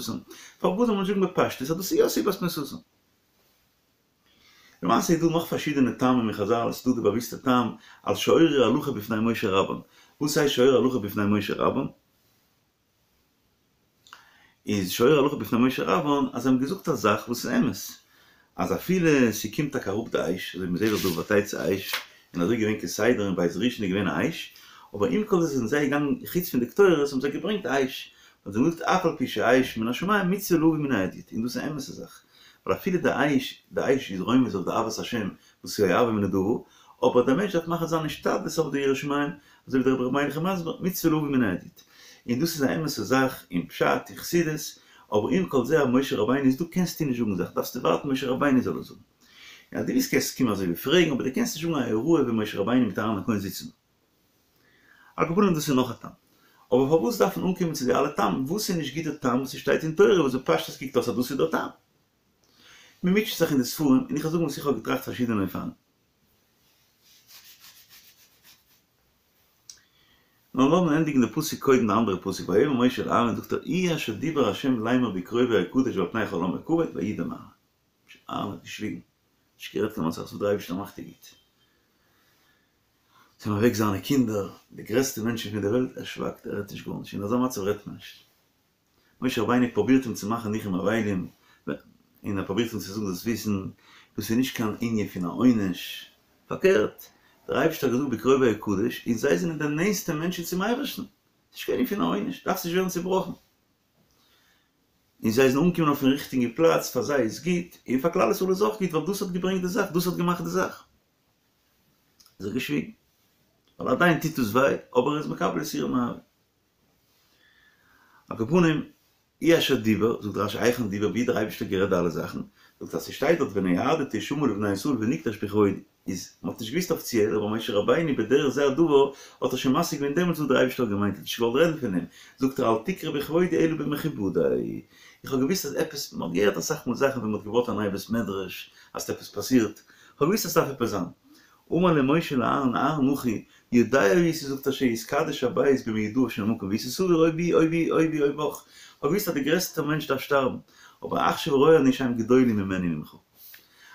פארוואס זאל מען נישט זאגן בפשטות אז דאס איז יא סיבת מיתתם? למעשה איז דא נאך פארשידענע טעמים אין חזל, עס איז דא די באוויסטע טעם על שהורו הלכה בפני משה רבן, וואס הייסט שהורו הלכה בפני משה רבן? איז שהורו הלכה בפני משה רבן אז זיי האבן געזאגט א זאך וואס איז אמת, אז אפילו ס'קומט טאקע אראפ די אש, אזוי ווי מ'זעט דאך דא ותצא אש, און אזוי געווען כסדר אין בית ראשון איז געווען א אש, אבער עם כל זה זענען זיי געגאנגען חוץ פון די קטורת האבן זיי געברענגט אש, האבן זיי געזאגט אף על פי שאש מן השמים מצוה להביא מן ההדיוט, און דאס איז א אמת'ע זאך, ווייל אפילו די אש, די אש איז רומז אויף די אהבת השם וואס איז אוהבו מנדבה, אבער דער מענטש דארף מאכן זיין השתדלות אויף די יראת שמים, אזוי ווי דער רבי ר' מיילך איז מסביר, מצוה להביא מן ההדיוט. און דאס איז א אמת'ע זאך אין פשט אין חסידות, אבער עם כל זה אז משה רבינו איז דא קענסטו נישט זאגן זאכן, דארפסטו ווארטן משה רבינו זאל עס זאגן. און אז דו ווילסט קענסטו קומען אזוי ווי פרעגן, אבער דו קענסט נישט זאגן א הוראה ווען משה רבינו מיט אהרן הכהן זיצן. על כל פנים דאס איז נאך א טעם. אבער פארוואס דארף מען אנקומען צו די אלע טעמים? וואס איז נישט גוט די טעם וואס ס'שטייט אין תורה וואס בפשטות קוקט אויס אז דאס איז דער טעם? מ'מוטשעט זיך אין די ספרים, און איך וועל זאגן וואס איך האב געטראכט פארשידענע אופנים. נאר לאמיר ענדיגן די פסוק קודם די אנדערע פסוק ויאמר משה אל אהרן זאגט ער הוא אשר דיבר ה' לאמר בקרובי אקדש ועל פני כל העם אכבד וידום אהרן. אהרן האט געשוויגן, נישט גערעדט קיין ווארט וואס דער אייבערשטער מאכט איז גוט. ס'זענען אוועק זיינע קינדער, די גרעסטע מענטשן פון דער וועלט, ער שווייגט, ער רעדט נישט גארנישט, אין אזא מצב רעדט מען נישט. משה רבינו פרובירט אים צו מאכן ניחום אבלים, און ער פרובירט אים צו זאגן זאלסט וויסן, דאס איז נישט קיין ענין פון א עונש, פארקערט, דער אייבערשטער האט געזאגט בקרובי אקדש, און זיי זענען די נענסטע מענטשן צום אייבערשטן, ס'איז נישט קיין ענין פון א עונש, דארפסט נישט ווערן צעבראכן. און זיי זענען אנגעקומען אויפן ריכטיגן פלאץ, פאר זיי איז גוט, און פאר כלל ישראל איז אויך גוט, ווייל דאס האט געברענגט די זאך, דאס האט געמאכט די זאך. איז ער געשוויגן. ווייל עדיין טוט עס וויי, אבער ער איז מקבל יסורים מאהבה. על כל פנים, הוא אשר דיבר, זאגט רש"י היכן דיבר, ווי האט דער אייבערשטער גערעדט די אלע זאכן, זאגט אז ס'שטייט דארט ונועדתי שמה לבני ישראל ונקדש בכבודי, איז מ'האט נישט געוויסט אפיציעל, אבער משה רבינו בדרך זה הדבר האט ער שוין משיג געווען דעמאלטס וואס דער אייבערשטער האט געמיינט, ער האט נישט געוואלט רעדן פון דעם, זאגט ער אל תקרא בכבודי אלא במכובדי, איך האב געוויסט אז עפעס, מ'האט געהערט אסאך מאל זאכן ווען מ'האט געבויט א נייע בית מדרש, אז ס'האט עפעס פאסירט, כ'האב געוויסט אז ס'דארף עפעס זיין. אמר לו משה לאהרן אהרן אחי, יודע הייתי זאגט ער שיתקדש הבית במיודעיו של מקום והייתי סבור או בי או בי או בי או בך, כ'האב געוויסט אז די גרעסטע מענטש דארף שטארבן, אבער עכשיו רואה אני שהם גדולים ממני וממך.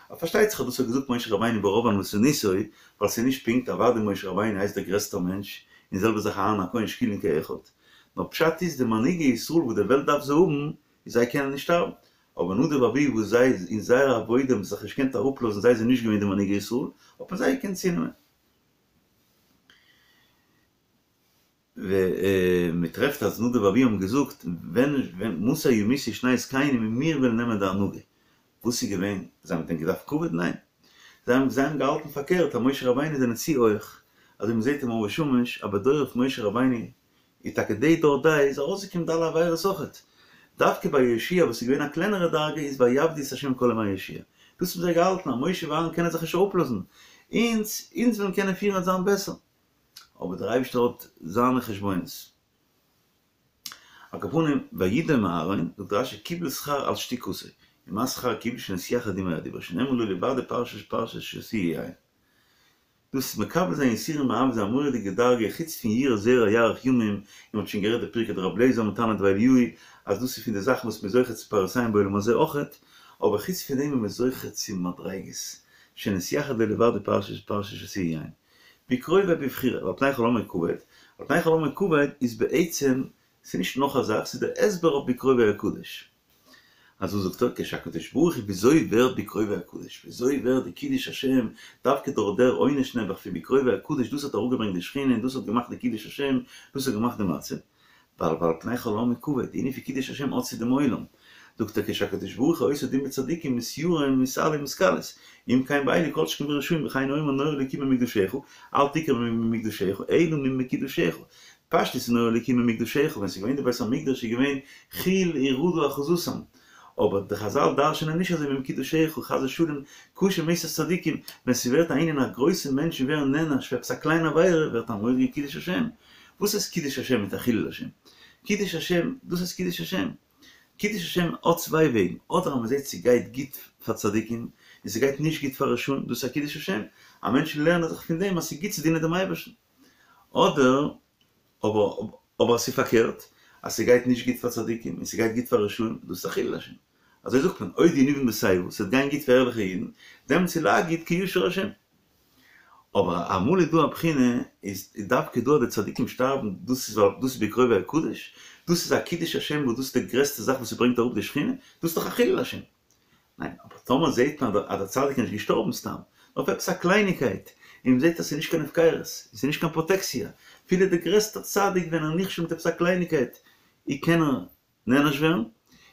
אבער פארשטייט זיך אז דאס האט געזאגט משה רבינו ברוב ענוותנותו, ווייל ס'איז נישט פונקט, אוודאי משה רבינו הייסט דער גרעסטער מענטש, און זעלבע זאך אהרן הכהן שקולין כאחד. נאר פשט איז די מנהיגי ישראל וואס די וועלט דארף זיי האבן, איז זיי קענען נישט שטארבן, אבער נדב ואביהוא וואס זיי אין זייער עבודה האבן זיך נישט געקענט אראפלאזן זיי זענען נישט געווען די מנהיגי ישראל, האט מען זיי געקענט צונעמען. מען טרעפט אז נדב ואביהוא האבן געזאגט ווען ווען מתי ימותו שני זקנים און מיר וועלן נעמען די הנהגה. וואס איז געווען? זיי האבן דען געדארפט כבוד? ניין. זיי האבן זיי האבן געהאלטן פארקערט אז משה רבינו זענען צו הויך, אזוי מען זעט אין מאור ושמש אז בדורו פון משה רבינו איז טאקע די דור דעה איז ארויסגעקומען די אלע עבירות אויכעט. דווקא ביי יהושע וואס איז געווען א קלענערע דרגה איז ויעבדו את ה' כל ימי יהושע. דאס האבן זיי געהאלטן אז משה ואהרן קענען זיך נישט אראפלאזן, אונז אונז וועלן קענען פירן וועט זיין בעסער. אבער דער אייבערשטער האט זיינע חשבונות. על כל פנים, וידום אהרן, זאגט רש"י קיבל שכר על שתיקתו, ומה שכר קיבל שנתייחד עמו הדיבור, שנאמר לא לבדו פרשת פרשת שתויי יין. דאס מקבל זיין יסורים באהבה איז א מורא'דיגע דרגה, חוץ פון יראה זרע יאריך ימים, און מ'האט שוין גערעדט די פרקי דרבי אליעזר מתנא דבי אליהו, אז דאס איז פון די זאכן וואס מ'איז זוכה צו פארסיים בעולם הזה אויכעט, אבער חוץ פון דעם איז מען זוכה צו מדריגות, שנתייחד לו לבדו פרשת פרשת שתויי יין. בקרובי בבחירה, ועל פני כל עמו כבוד, על פני כל עמו כבוד איז בעצם, ס'איז נישט נאך א זאך, ס'איז דער הסבר אויף בקרובי אקדש. אזוי זאגט ער, כשהקדוש ברוך הוא וויאזוי ווערט בקרובי אקדש, וויאזוי ווערט די קידוש השם, דווקא דורך דער עונש נעבעך פון בקרובי אקדש, דאס האט אראפגעברענגט די שכינה און דאס האט געמאכט די קידוש השם, דאס האט געמאכט די מצב. ווייל ועל פני כל העם כבוד, די ענין פון קידוש השם האט צו דעם עולם. זאגט ער כשהקדוש ברוך הוא עושה דין בצדיקים מתייראים מתעלים מתכלס, אם כן באלו כל שכן ברשעים וכן הוא אומר נורא אלוקים ממקדשך, אל תקרב ממקדשך, אלא ממקודשיך. פשטות איז נורא אלוקים ממקדשך, ווען ס'איז געווען די בית המקדש איז געווען חיל ורעדה אחוזתם. אבער די חזל דרש'נען נישט אזוי ממקודשיך, חס ושלום, קשה מיתת צדיקים, ווען ס'ווערט א ענין אז גרויסע מענטשן ווערן נענש פאר עפעס א קליינע עבירה, ווערט א מורא'דיגע קידוש השם. וואס איז קידוש השם מיט א חילול השם? קידוש השם, דאס איז קידוש השם. קידוש השם האט צוויי וועגן, אדער אז מ'זעט ס'גייט גוט פאר צדיקים, און ס'גייט נישט גוט פאר רשעים, דאס איז א קידוש השם, אז מענטשן לערנען זיך פון דעם אז ס'איז גוט צו דינען דעם אייבערשטן. אדער, אבער, אבער אז ס'איז פארקערט, אז ס'גייט נישט גוט פאר צדיקים און ס'גייט גוט פאר רשעים, דאס איז א חילול השם. אזוי זאגט מען, עוד ינובון בשיבה, ס'וועט גיין גוט פאר ערליכע אידן, דעמאלטס איז להגיד כי ישיר השם. אבער אמאל איז דא א בחינה, איז דווקא דא אז די צדיקים שטארבן, דאס איז ווייל דאס איז בקרובי אקדש, דאס איז א קידוש השם וואס דאס איז די גרעסטע זאך וואס ס'ברענגט אראפ די שכינה, דאס איז דאך א חילול השם. ניין, אבער טאמער זעהט מען אז דער צדיק איז נישט געשטארבן סתם, נאר אויף עפעס א קלייניקייט, און מ'זעהט אז ס'איז נישט קיין הפקרות, און ס'איז נישט קיין פראטעקציע, אפילו דער גרעסטער צדיק ווען ער נכשל מיט עפעס א קלייניקייט, אי קען ער נענש ווערן,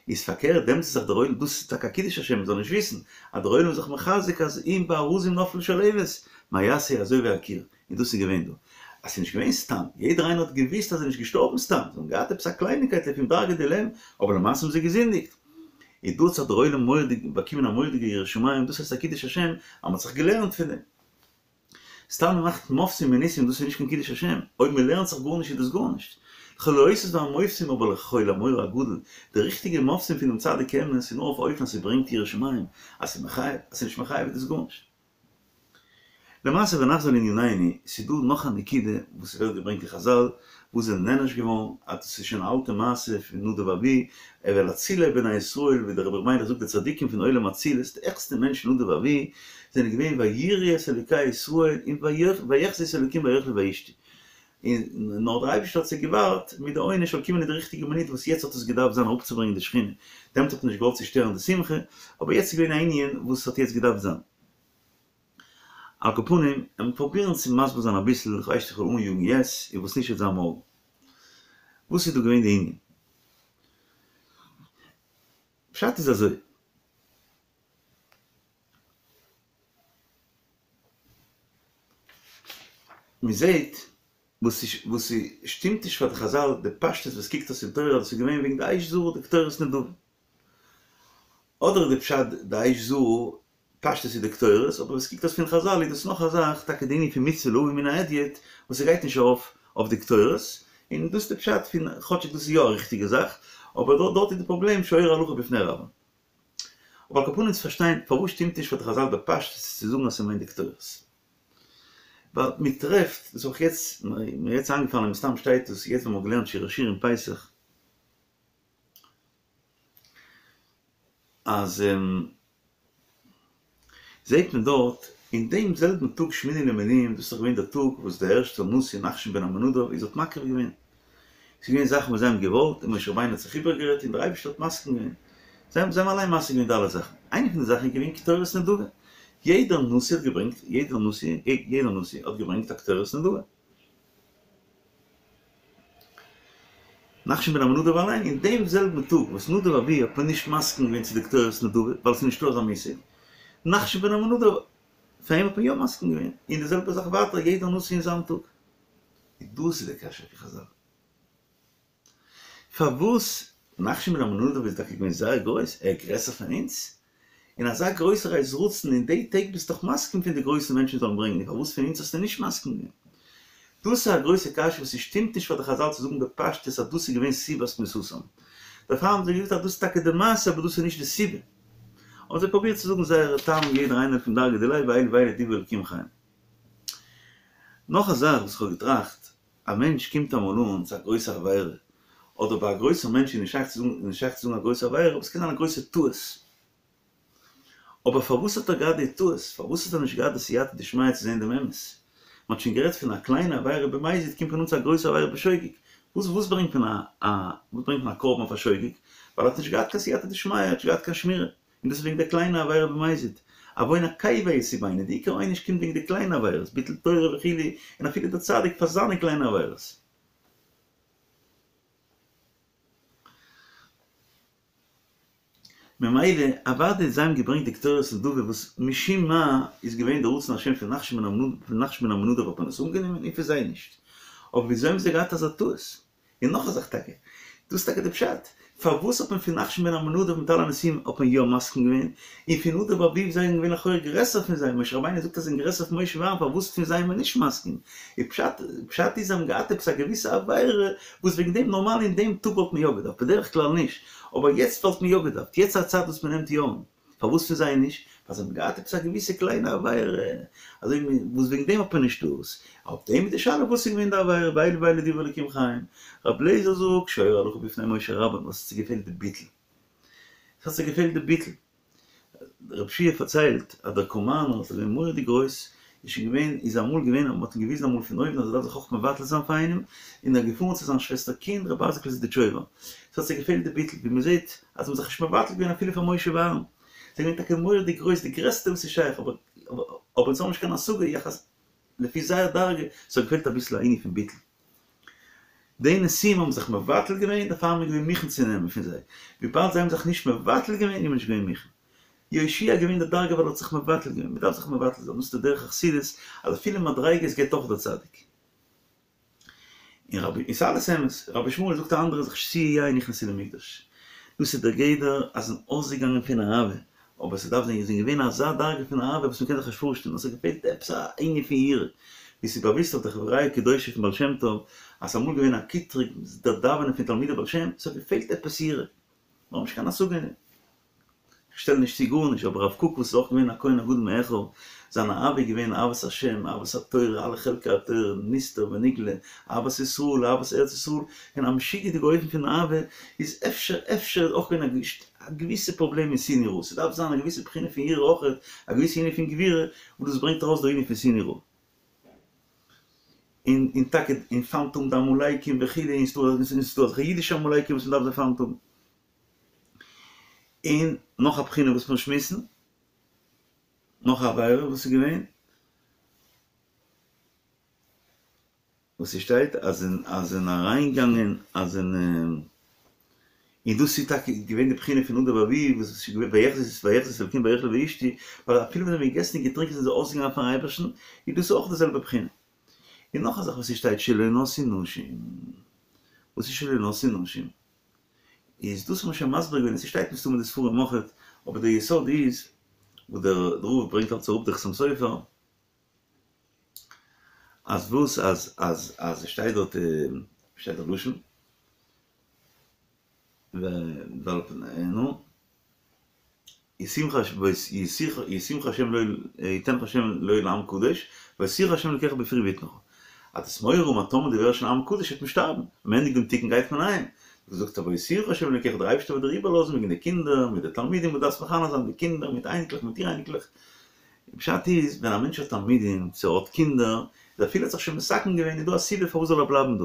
איז פארקערט דעמאלטס איז זיך דער עולם, דאס איז טאקע א קידוש השם, מ'זאל נישט וויסן אז דער עולם איז זיך מחזק אז אם בארזים נפלה שלהבת, מה יעשה אזוי ווי א קיר, און דאס איז געווען דא. אז ס'איז נישט געווען סתם, יעדער איינער האט געוויסט אז ער איז נישט געשטארבן סתם, זיי האבן געהאט עפעס א קלייניקייט לפום דרגא דילהם, אבער למעשה האבן זיי געזינדיגט. איז דא האט זיך דער עולם מורא'דיג באקומען א מורא'דיגע יראת שמים, דאס הייסט א קידוש השם, אז מ'האט זיך געלערנט פון דעם. סתם מ'מאכט מופתים וניסים דאס איז נישט קיין קידוש השם, אויב מ'לערנט זיך גארנישט איז דאס גארנישט. לכל האותות והמופתים אבער לכל המורא הגדול, די ריכטיגע מופתים פונעם צדיק אמת איז נאר אויף א אופן אז ס'ברענגט יראת שמים, אז ס'איז מחייב, אז ס'איז נישט מחייב איז דאס גארנישט. למעשה ונחזור לענינינו, ס'איז דא נאך א נקודה וואס ס'ווערט געברענגט אין חזל, וואס זענען נענש געווארן, אז דאס איז שוין א אלטע מעשה פון נדב ואביהוא, ואל אצילי בני ישראל, ווי דער רבי ר' מיילעך זאגט די צדיקים פון עולם אצילות, די העכסטע מענטשן נדב ואביהוא, זענען געווען ויראו את אלוקי ישראל, און ויחזו את האלוקים ויאכלו וישתו. און נאר דער אייבערשטער האט זיי געווארט מיט די עונש זאל קומען אין די ריכטיגע מינוט וואס יעצט האט עס געדארפט זיין אראפצוברענגען די שכינה, דעמאלט האט מען נישט געוואלט צושטערן די שמחה, אבער יעצט איז געווען א ענין וואס האט יעצט געדארפט זיין. על כל פנים, לאמיר פרובירן צו מסביר זיין אביסל, איך ווייס נישט איך וועל אניאגן יעצט, און וואס נישט וועט זיין מארגן. וואס איז דא געווען די ענין? פשט איז אזוי. מען זעט וואס וואס ס'שטימט נישט פאר די חזל די פשטות וואס קוקט אויס אין תורה אז עס איז געווען וועגן די אש זרה די קטורת נדבה. אדער איז די פשט די אש זרה פשטות איז די קטורת, אבער ווי ס'קוקט אויס פון חזל איז דאס נאך א זאך, טאקע די ענין פון מצוה להביא מן ההדיוט, וואס ס'גייט נישט ארויף אויף די קטורת, און דאס איז די פשט פון, כאטשיג דאס איז יא א ריכטיגע זאך, אבער דארט דארט איז די פראבלעם שורה הלכה בפני רבה. אבער על כל פנים צו פארשטיין פארוואס שטימט נישט פאר די חזל בפשטות צו זאגן אז ס'מיינט די קטורת. ווייל מ'טרעפט, דאס האב איך יעצט, מיר יעצט איינגעפאלן און מסתם שטייט דאס יעצט ווען מ'האט געלערנט שיר השירים פסח, אז זעהט מען דארט אין דעם זעלבן טאג שמיני למילואים, דאס איז דאך געווען דער טאג וואס דער ערשטער נשיא נחשון בן עמינדב איז האט מקריב געווען, ס'איז געווען זאכן וואס זיי האבן געוואלט און משה רבינו האט זיך איבערגערעדט און דער אייבערשטער האט מסכים געווען, זיי האבן זיי האבן אליין מסכים געווען די אלע זאכן, איינע פון די זאכן איז געווען קטורת נדבה, יעדער נשיא האט געברענגט, יעדער נשיא, יעדער נשיא האט געברענגט א קטורת נדבה. נחשון בן עמינדב אליין אין דעם זעלבן טאג וואס נדב ואביהוא האט מען נישט מסכים געווען צו די קטורת נדבה ווייל ס'איז נישטא אזא מושג, נחשון בן עמינדב פאר אים האט מען יא מסכים געווען, און די זעלבע זאך ווייטער יעדער נשיא אין זיין טאג. און דאס איז די קשיא פון חזל. פארוואס? נחשון בן עמינדב איז טאקע געווען זייער גרויס, ער איז גרעסער פון אונז? און אזא גרויסער עת רצון אין די טעג ביסט דאך מסכים פון די גרויסע מענטשן זאלן ברענגען, און פארוואס פון אונז האסטו נישט מסכים געווען? דאס איז א גרויסע קשיא וואס ס'שטימט נישט פאר די חזל צו זאגן בפשטות אז דאס איז געווען סיבת מיתתם. דערפאר האבן זיי געזאגט אז דאס איז טאקע די מעשה אבער דאס איז נישט די סיבה. האבן זיי פרובירט צו זאגן זייערע טעמים יעדער איינער פון דרגא דיליה ואלו ואלו דברי אלקים חיים. נאך א זאך וואס כ'האב געטראכט, א מענטש קומט אמאל אן צו א גרויסע עבירה, אדער ביי א גרויסער מענטש איז נישט שייך צו זאגן נישט שייך צו זאגן א גרויסע עבירה אבער ס'קען זיין א גרויסע טעות. אבער פארוואס האט ער געהאט די טעות? פארוואס האט ער נישט געהאט די סייעתא דשמיא צו זען דעם אמת? מען האט שוין גערעדט פון א קליינע עבירה במזיד קומט מען אן צו א גרויסע עבירה בשוגג. וואס וואס ברענגט מען א א וואס ברענגט מען א קרבן אויף א שוגג? ווייל ער האט נישט געהאט קיין סייעתא דשמיא, ער האט נישט געהאט קיין שמירה. און דאס איז וועגן די קליינע עבירה במזיד. עוון עקיבה יסובנו, די עיקר עונש קומט וועגן די קליינע עבירות, ביטול תורה וכו', און אפילו דער צדיק פאר זיינע קליינע עבירות. ממילא אוודאי זיי האבן געברענגט די קטורת נדבה וואס משום מה איז געווען די רצון השם פון נחשון בן עמינדב האט מען עס אנגענומען און פון זיי נישט. אבער וויאזוי האבן זיי געהאט אזא טעות? און נאך א זאך טאקע, דאס איז טאקע די פשט, פארוואס האט מען פון נחשון בן עמינדב מיט אלע נשיאים האט מען יא מסכים געווען, און פון נדב ואביהוא זיי זענען געווען לכאורה גרעסער פון זיי, משה רבינו זאגט אז זיי זענען גרעסער פון משה ואהרן פארוואס פון זיי איז מען נישט מסכים, איז פשט, פשט איז זיי האבן געהאט עפעס א געוויסע עבירה וואס וועגן דעם נארמאל אין דעם טאג וואלט מען יא געדארפט, בדרך כלל נישט, אבער יעצט וואלט מען יא געדארפט, יעצט איז א צייט וואס מען נעמט יא אן. פארוואס פון זיי נישט? ווייל זיי האבן געהאט עפעס א געוויסע קליינע עבירה, אזוי ווי וואס וועגן דעם האט מען נישט דאס. אויף דעם איז די שאלה וואס איז געווען די עבירה, ואלו ואלו דברי אלקים חיים. רבי אליעזר זאגט, שורה הלכה בפני משה רבן, וואס האט זיי געפעלט די ביטול. עס האט זיי געפעלט די ביטול. רב שיע פארציילט אז דער קאמארנער וואס איז געווען מורא'דיג גרויס, איז שוין געווען, איז אמאל געווען, מען האט אים געוויזן אמאל פון אויבן אז ער דארף זיך אויך מבטל זיין פאר איינעם, און ער איז געפארן צו זיין שוועסטער קינד רבי אייזיק'ל זידיטשויבער. עס האט זיי געפעלט די ביטול, ווי מען זעט אז זיי האבן זיך נישט מבטל געווען אפילו פאר משה ואהרן. זיי זענען געווען טאקע מורא'דיג גרויס, די גרעסטע וואס איז שייך, אבער אבער אונז האבן נישט קיין השגה יחס לפי זייער דרגה, עס האט געפעלט אביסל א ענין פון ביטול. די נשיאים האבן זיך מבטל געווען, דערפאר איז מען געווען מוכן צו נעמען פון זיי. וויבאלד זיי האבן זיך נישט מבטל געווען, איז מען נישט געווען מוכן. יהושע איז געווען די דרגה ווייל ער האט זיך מבטל געווען, מען דארף זיך מבטל זיין, דאס איז די דרך החסידות, אז אפילו מדריגות געבט אויך דער צדיק. און רבי, און ס'איז אלעס אמת, רבי ישמעאל זאגט א אנדערע זאך שתויי יין נכנסו למקדש, דאס איז דער גדר אז זענען אויסגעגאנגען פון אהבה, אבער ס'דארף זיין זענען געווען אזא דרגה פון אהבה וואס מ'קען זיך נישט פארשטעלן, אז ס'האט געפעלט עפעס א ענין פון יראה, ווי ס'איז באוויסט אויף די חבריא קדושה פון בעל שם טוב, אז ס'איז אמאל געווען א קיטרוג דער דאווענען פון תלמידי בעל שם, ס'האט געפעלט עפעס יראה, מ'האט נישט קיין השגה אין דעם. כ'שטעל נישט צו גארנישט, אבער הרב קוק וואס איז אויך געווען א כהן הגדול מאחיו, זיין אהבה איז געווען אהבת השם, אהבת התורה, אלע חלקי התורה, נסתר ונגלה, אהבת ישראל, אהבת ארץ ישראל, און א משוגע'דיגע אופן פון אהבה, איז אפשר אפשר איז אויך געווען א געוויסע פראבלעם אין שנאה יראה, ס'דארף זיין א געוויסע בחינה פון יראה אויכעט, א געוויסע ענין פון גבורה, וואס דאס ברענגט ארויס דער ענין פון שנאה יראה. און און טאקע און פיינט האבן די עמלקים וכו', און ס'דא אזעלכע אידישע עמלקים וואס מ'דארף זיי פיינט האבן. און נאך א בחינה וואס מיר שמועסן, נאך א עבירה וואס איז געווען, וואס ס'שטייט אז אין אז אין אריינגאנגען אז אין און דאס איז טאקע געווען די בחינה פון נדב ואביהוא וואס איז געווען ויחזו ויחזו את האלקים ויאכלו וישתו, ווייל אפילו ווען זיי האבן געגעסן און געטרינקען זענען זיי אויסגעגאנגען פארן אייבערשטן, איז דאס אויך די זעלבע בחינה. און נאך א זאך וואס ס'שטייט שלא נשאו נשים, וואס איז שלא נשאו נשים? איז דאס האט מען שוין מסביר געווען, עס שטייט מסתמא אין די ספרים אויכעט, אבער דער יסוד איז, וואס דער רב ברענגט אלץ אראפ דער חתם סופר, אז וואס אז אז אז עס שטייט דארט, ווי שטייט דער לשון? נו? ישימך השם לו יתנך השם לו לעם קדוש, והותירך השם אלקיך בפרי בטנך. אז דו'סט מורא האבן אז טאמער דו ווערסט שוין עם קדוש וועט מען שטארבן, ווען מען ענדיגט דעם תיקון גייט מען אהיים. זאגט ער והותירך השם אלקיך דער אייבערשטער וועט דיר איבערלאזן וועגן די קינדער מיט די תלמידים וואס דארפסט מחנך זיין די קינדער מיט אייניקלעך מיט אור אייניקלעך. פשט איז ווען א מענטש האט תלמידים צו ער האט קינדער איז אפילו ער האט זיך שוין מתקן געווען איז דא א סיבה פארוואס זאל ער בלייבן דא.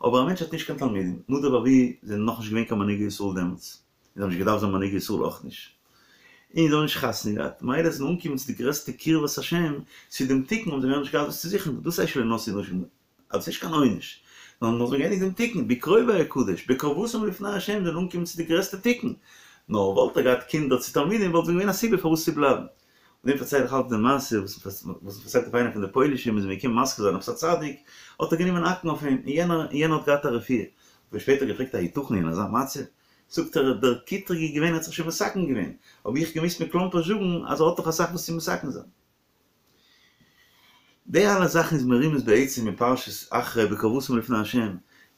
אבער א מענטש האט נישט קיין תלמידים, נדב ואביהוא זענען נאכנישט געווען קיין מנהיגי ישראל דעמאלטס. זיי האבן נישט געדארפט זיין מנהיגי ישראל אויך נישט, און זיי האבן נישט חתונה געהאט, מילא זיי זענען אנגעקומען צו די גרעסטע קרבת השם, צו דעם תיקון האבן זיי מער נישט געהאט וואס צו זוכן, דאס הייסט שלא נשאו נשים, אז עס איז נישט קיין עונש, נאר נאר זיי האבן געענדיגט דעם תיקון, בקרובי אקדש, בקרבתם לפני השם, זיי זענען אנגעקומען צו די גרעסטע תיקון, נאר וואלט ער געהאט קינדער צו תלמידים וואלט געווען א סיבה פארוואס צו בלייבן. און דעם פארצייל איך אלץ די מעשה וואס וואס מ'פארציילט אויף איינער פון די פוילישע, מ'איז אים געקומען מזכיר זיין עפעס א צדיק, האט ער גענומען האקן אויף אים, און יענער יענער האט געהאט א רפואה, האט מען שפעטער געפרעגט היתכן אין אזא מצב? זאגט ער דער קטרוג איז געווען ער האט זיך שוין מתקן געווען, האב איך געמוזט מכלומפערשט זאגן אז ער האט נאך אסאך וואס צו מתקן זיין. די אלע זאכן איז מרומז בעצם אין פרשת אחרי בקרבתם לפני ה',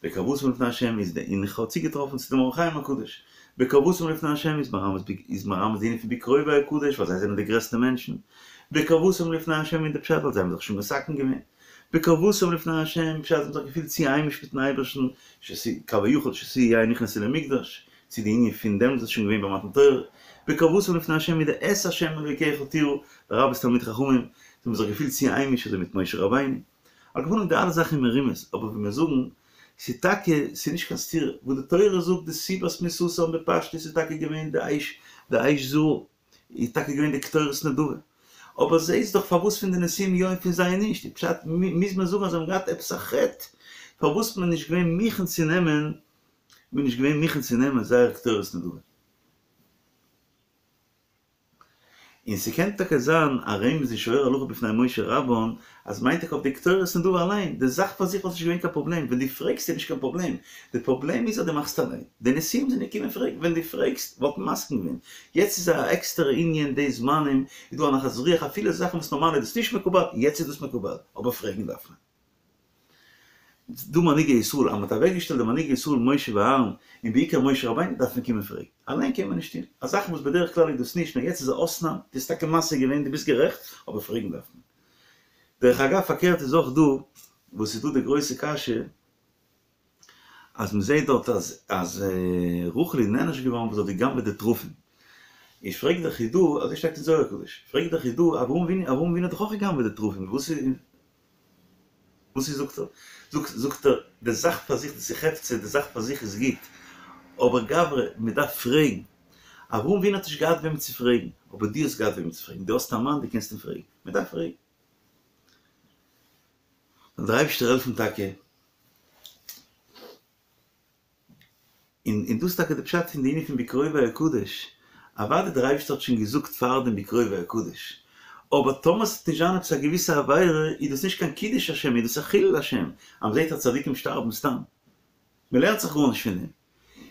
בקרבתם לפני ה' איז די און איך האב צוגעטראפן צו דעם אור החיים הקדוש, בקרבתם לפני ה' איז מרמז איז מרמז די ענין פון בקרובי אקדש ווייל זיי זענען די גרעסטע מענטשן, בקרבתם לפני ה' איז די פשט ווייל זיי האבן זיך שוין מתקן געווען, בקרבתם לפני ה' פשט זיי האבן זיך געפילט צו היימיש מיטן אייבערשטן, כביכול שתויי יין נכנסו למקדש, צו די ענין פון דעמאלטס איז שוין געווען ביי מתן תורה, בקרבתם לפני ה' מיט די את ה' אלוקיך תירא, לרבות תלמידי חכמים, זיי האבן זיך געפילט צו היימיש אזוי מיט משה רבינו. על כל פנים די אלע זאכן איז מרומז, אבער ווי מיר זאגן, ס'איז טאקע, ס'איז נישט קיין סתירה, וואס די תורה זאגט די סיבת מיתתם בפשטות איז טאקע געווען די אש, די אש זרה, איז טאקע געווען די קטורת נדבה. אבער זעהסט דאך פארוואס פון די נשיאים יא און פון זיי נישט, איז פשט מוז מען זאגן אז זיי האבן געהאט עפעס א חטא פארוואס מען איז נישט געווען מוכן צו נעמען, מען איז נישט געווען מוכן צו נעמען זייער קטורת נדבה. און ס'קען טאקע זיין א רמז אין שואר הלכה בפני משה רבן אז מיינט טאקע אויף די קטורת נדבה אליין, די זאך פאר זיך וואלט נישט געווען קיין פראבלעם, ווען דו פרעגסט איז נישט קיין פראבלעם, די פראבלעם איז אז דו מאכסט אליין, די נשיאים זענען געקומען פרעגן, ווען דו פרעגסט וואלט מען מסכים געווען, יעצט איז א עקסטערע ענין די זמנים איז דא א נחת רוח אפילו זאכן וואס נארמאל איז דאס נישט מקובל, יעצט איז דאס מקובל, אבער פרעגן דארף מען. דא מנהיגי ישראל, אז מען האט אוועקגעשטעלט די מנהיגי ישראל משה ואהרן, און בעיקר משה רבינו, דארף מען קומען פרעגן. אליין קען מען נישט טון. א זאך וואס בדרך כלל איז דאס נישט, נאר יעצט איז א אויסנאם, דו האסט טאקע משיג געווען, דו ביסט גערעכט, אבער פרעגן דארף מען. דרך אגב, פארקערט איז אויך דא, וואס איז דא די גרויסע קשיא, אז מען זעט דארט אז אז רחל איז נענש געווארן וואס האט גע'גנב'עט די תרפים. איז פרעגט דער חידא, אזוי שטייט אין זוהר הקדוש, פרעגט דער חידא, אברהם אבינו אברהם אבינו האט דאך אויך גע'גנב'עט די תרפים, וואס איז וואס איז זאגט ער? זאגט זאגט ער, די זאך פאר זיך דאס איז חפצא, די זאך פאר זיך איז גוט, אבער גברא, מען דארף פרעגן. אברהם אבינו האט נישט געהאט וועמען צו פרעגן, אבער דו האסט געהאט וועמען צו פרעגן, דו האסט א מאן, דו קענסט אים פרעגן, מען דארף פרעגן. זאל דער אייבערשטער העלפן טאקע, און און דאס איז טאקע די פשט פון די ענין פון בקרובי אקדש, אוודאי דער אייבערשטער האט שוין געזאגט פארדעם בקרובי אקדש, אבער טאמער ס'וועט נישט זיין עפעס א געוויסע עבירה איז דאס נישט קיין קידוש השם איז דאס א חילול השם, אז מ'זעט אז צדיקים שטארבן סתם, מ'לערנט זיך גארנישט פון דעם,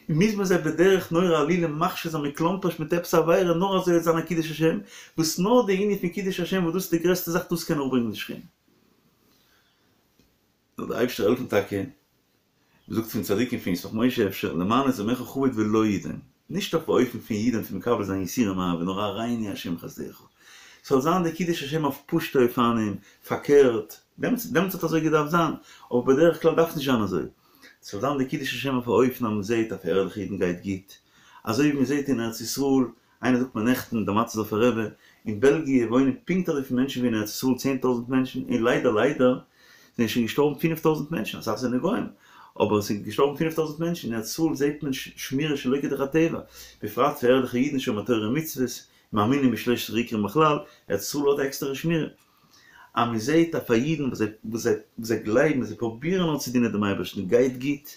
און מוז מען זיי בדרך נורא עלילה מכשיל זיין מכלומפערשט מיט עפעס א עבירה נאר אזוי וועט זיין א קידוש השם, וואס נאר די ענין פון קידוש השם וואס דאס איז די גרעסטע זאך דאס קען אראפברענגען די שכינה. זאל דער אייבערשטער העלפן טאקע, מען זאגט פון צדיקים פון ישמח משה אפשר למען את דמך חבוד ולא ידום, נישט אויף א אופן פון ידום פון מקבל זיין יסורים אהבה, נאר הראנו השם חסדך, ס'זאל זיין די קידוש השם אויף פשוטע אופנים, פארקערט, דעמאלטס דעמאלטס האט אזוי געדארפט זיין, אבער בדרך כלל דארף נישט זיין אזוי, ס'זאל זיין די קידוש השם אויף א אופן אז מען זעט אז פאר ערליכע אידן גייט גוט, אזוי ווי מען זעט אין ארץ ישראל, איינער זאגט מיר נעכטן, דער מאטערסדארפער רבי, אין בעלגיע וואוינען פונקט אזויפיל מענטשן ווי אין ארץ ישראל 10,000 מענטשן, און ליידער ליידער זענען שוין געשטארבן 5,000 מענטשן, אסאך זענען גוים, אבער עס זענען געשטארבן 5,000 מענטשן, אין ארץ ישראל זעט מען שמירה שלא כדרך הטבע, בפרט פאר ערליכע אידן שומרי תורה ומצוות, מאמינים בשלושת עיקרים בכלל, ארץ ישראל האט א עקסטערע שמירה. אז מען זעט אז פאר אידן וואס זיי וואס זיי וואס זיי גלייבן און זיי פרובירן נאר צו דינען דעם אייבערשטן גייט גוט,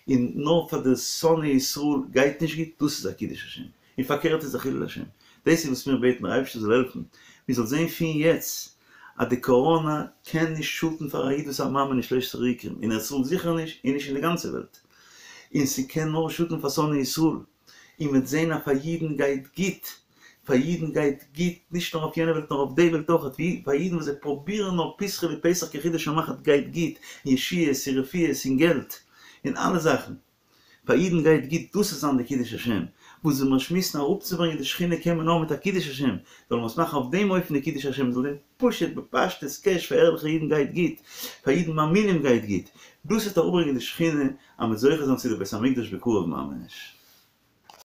און נאר פאר די שונאי ישראל גייט נישט גוט, דאס איז א קידוש השם, און פארקערט איז א חילול השם. דאס איז וואס מיר בעטן דער אייבערשטער זאל העלפן מיר זאל זען פון יעצט אז די קאראנא קען נישט שאטן פאר א איד וואס איז א מאמין אין שלושת עיקרים, אין ארץ ישראל זיכער נישט און נישט אין די גאנצע וועלט, און ס'קען נאר שאטן פאר שונאי ישראל. און מ'וועט זען אז פאר אידן גייט גוט, פאר אידן גייט גוט נישט נאר אויף יענע וועלט נאר אויף די וועלט אויך, ווי פאר אידן וואס זיי פרובירן נאר פתחו לי פתח כחודו של מחט גייט גוט, און ישועות און רפואות און געלט און אלע זאכן, פאר אידן גייט גוט, דאס איז זיין די קידוש השם, וואס ווען מיר שמועסן אראפצוברענגען די שכינה קען מען נאר מיט א קידוש השם, זאל מען עס מאכן אויף דעם אופן די קידוש השם זאל זיין פשוט בפשטות קעש פאר ערליכע אידן גייט גוט, פאר אידן מאמינים גייט גוט, דאס וועט אראפברענגען די שכינה אז מ'וועט זוכה זיין צו די בית המקדש בקרוב ממש.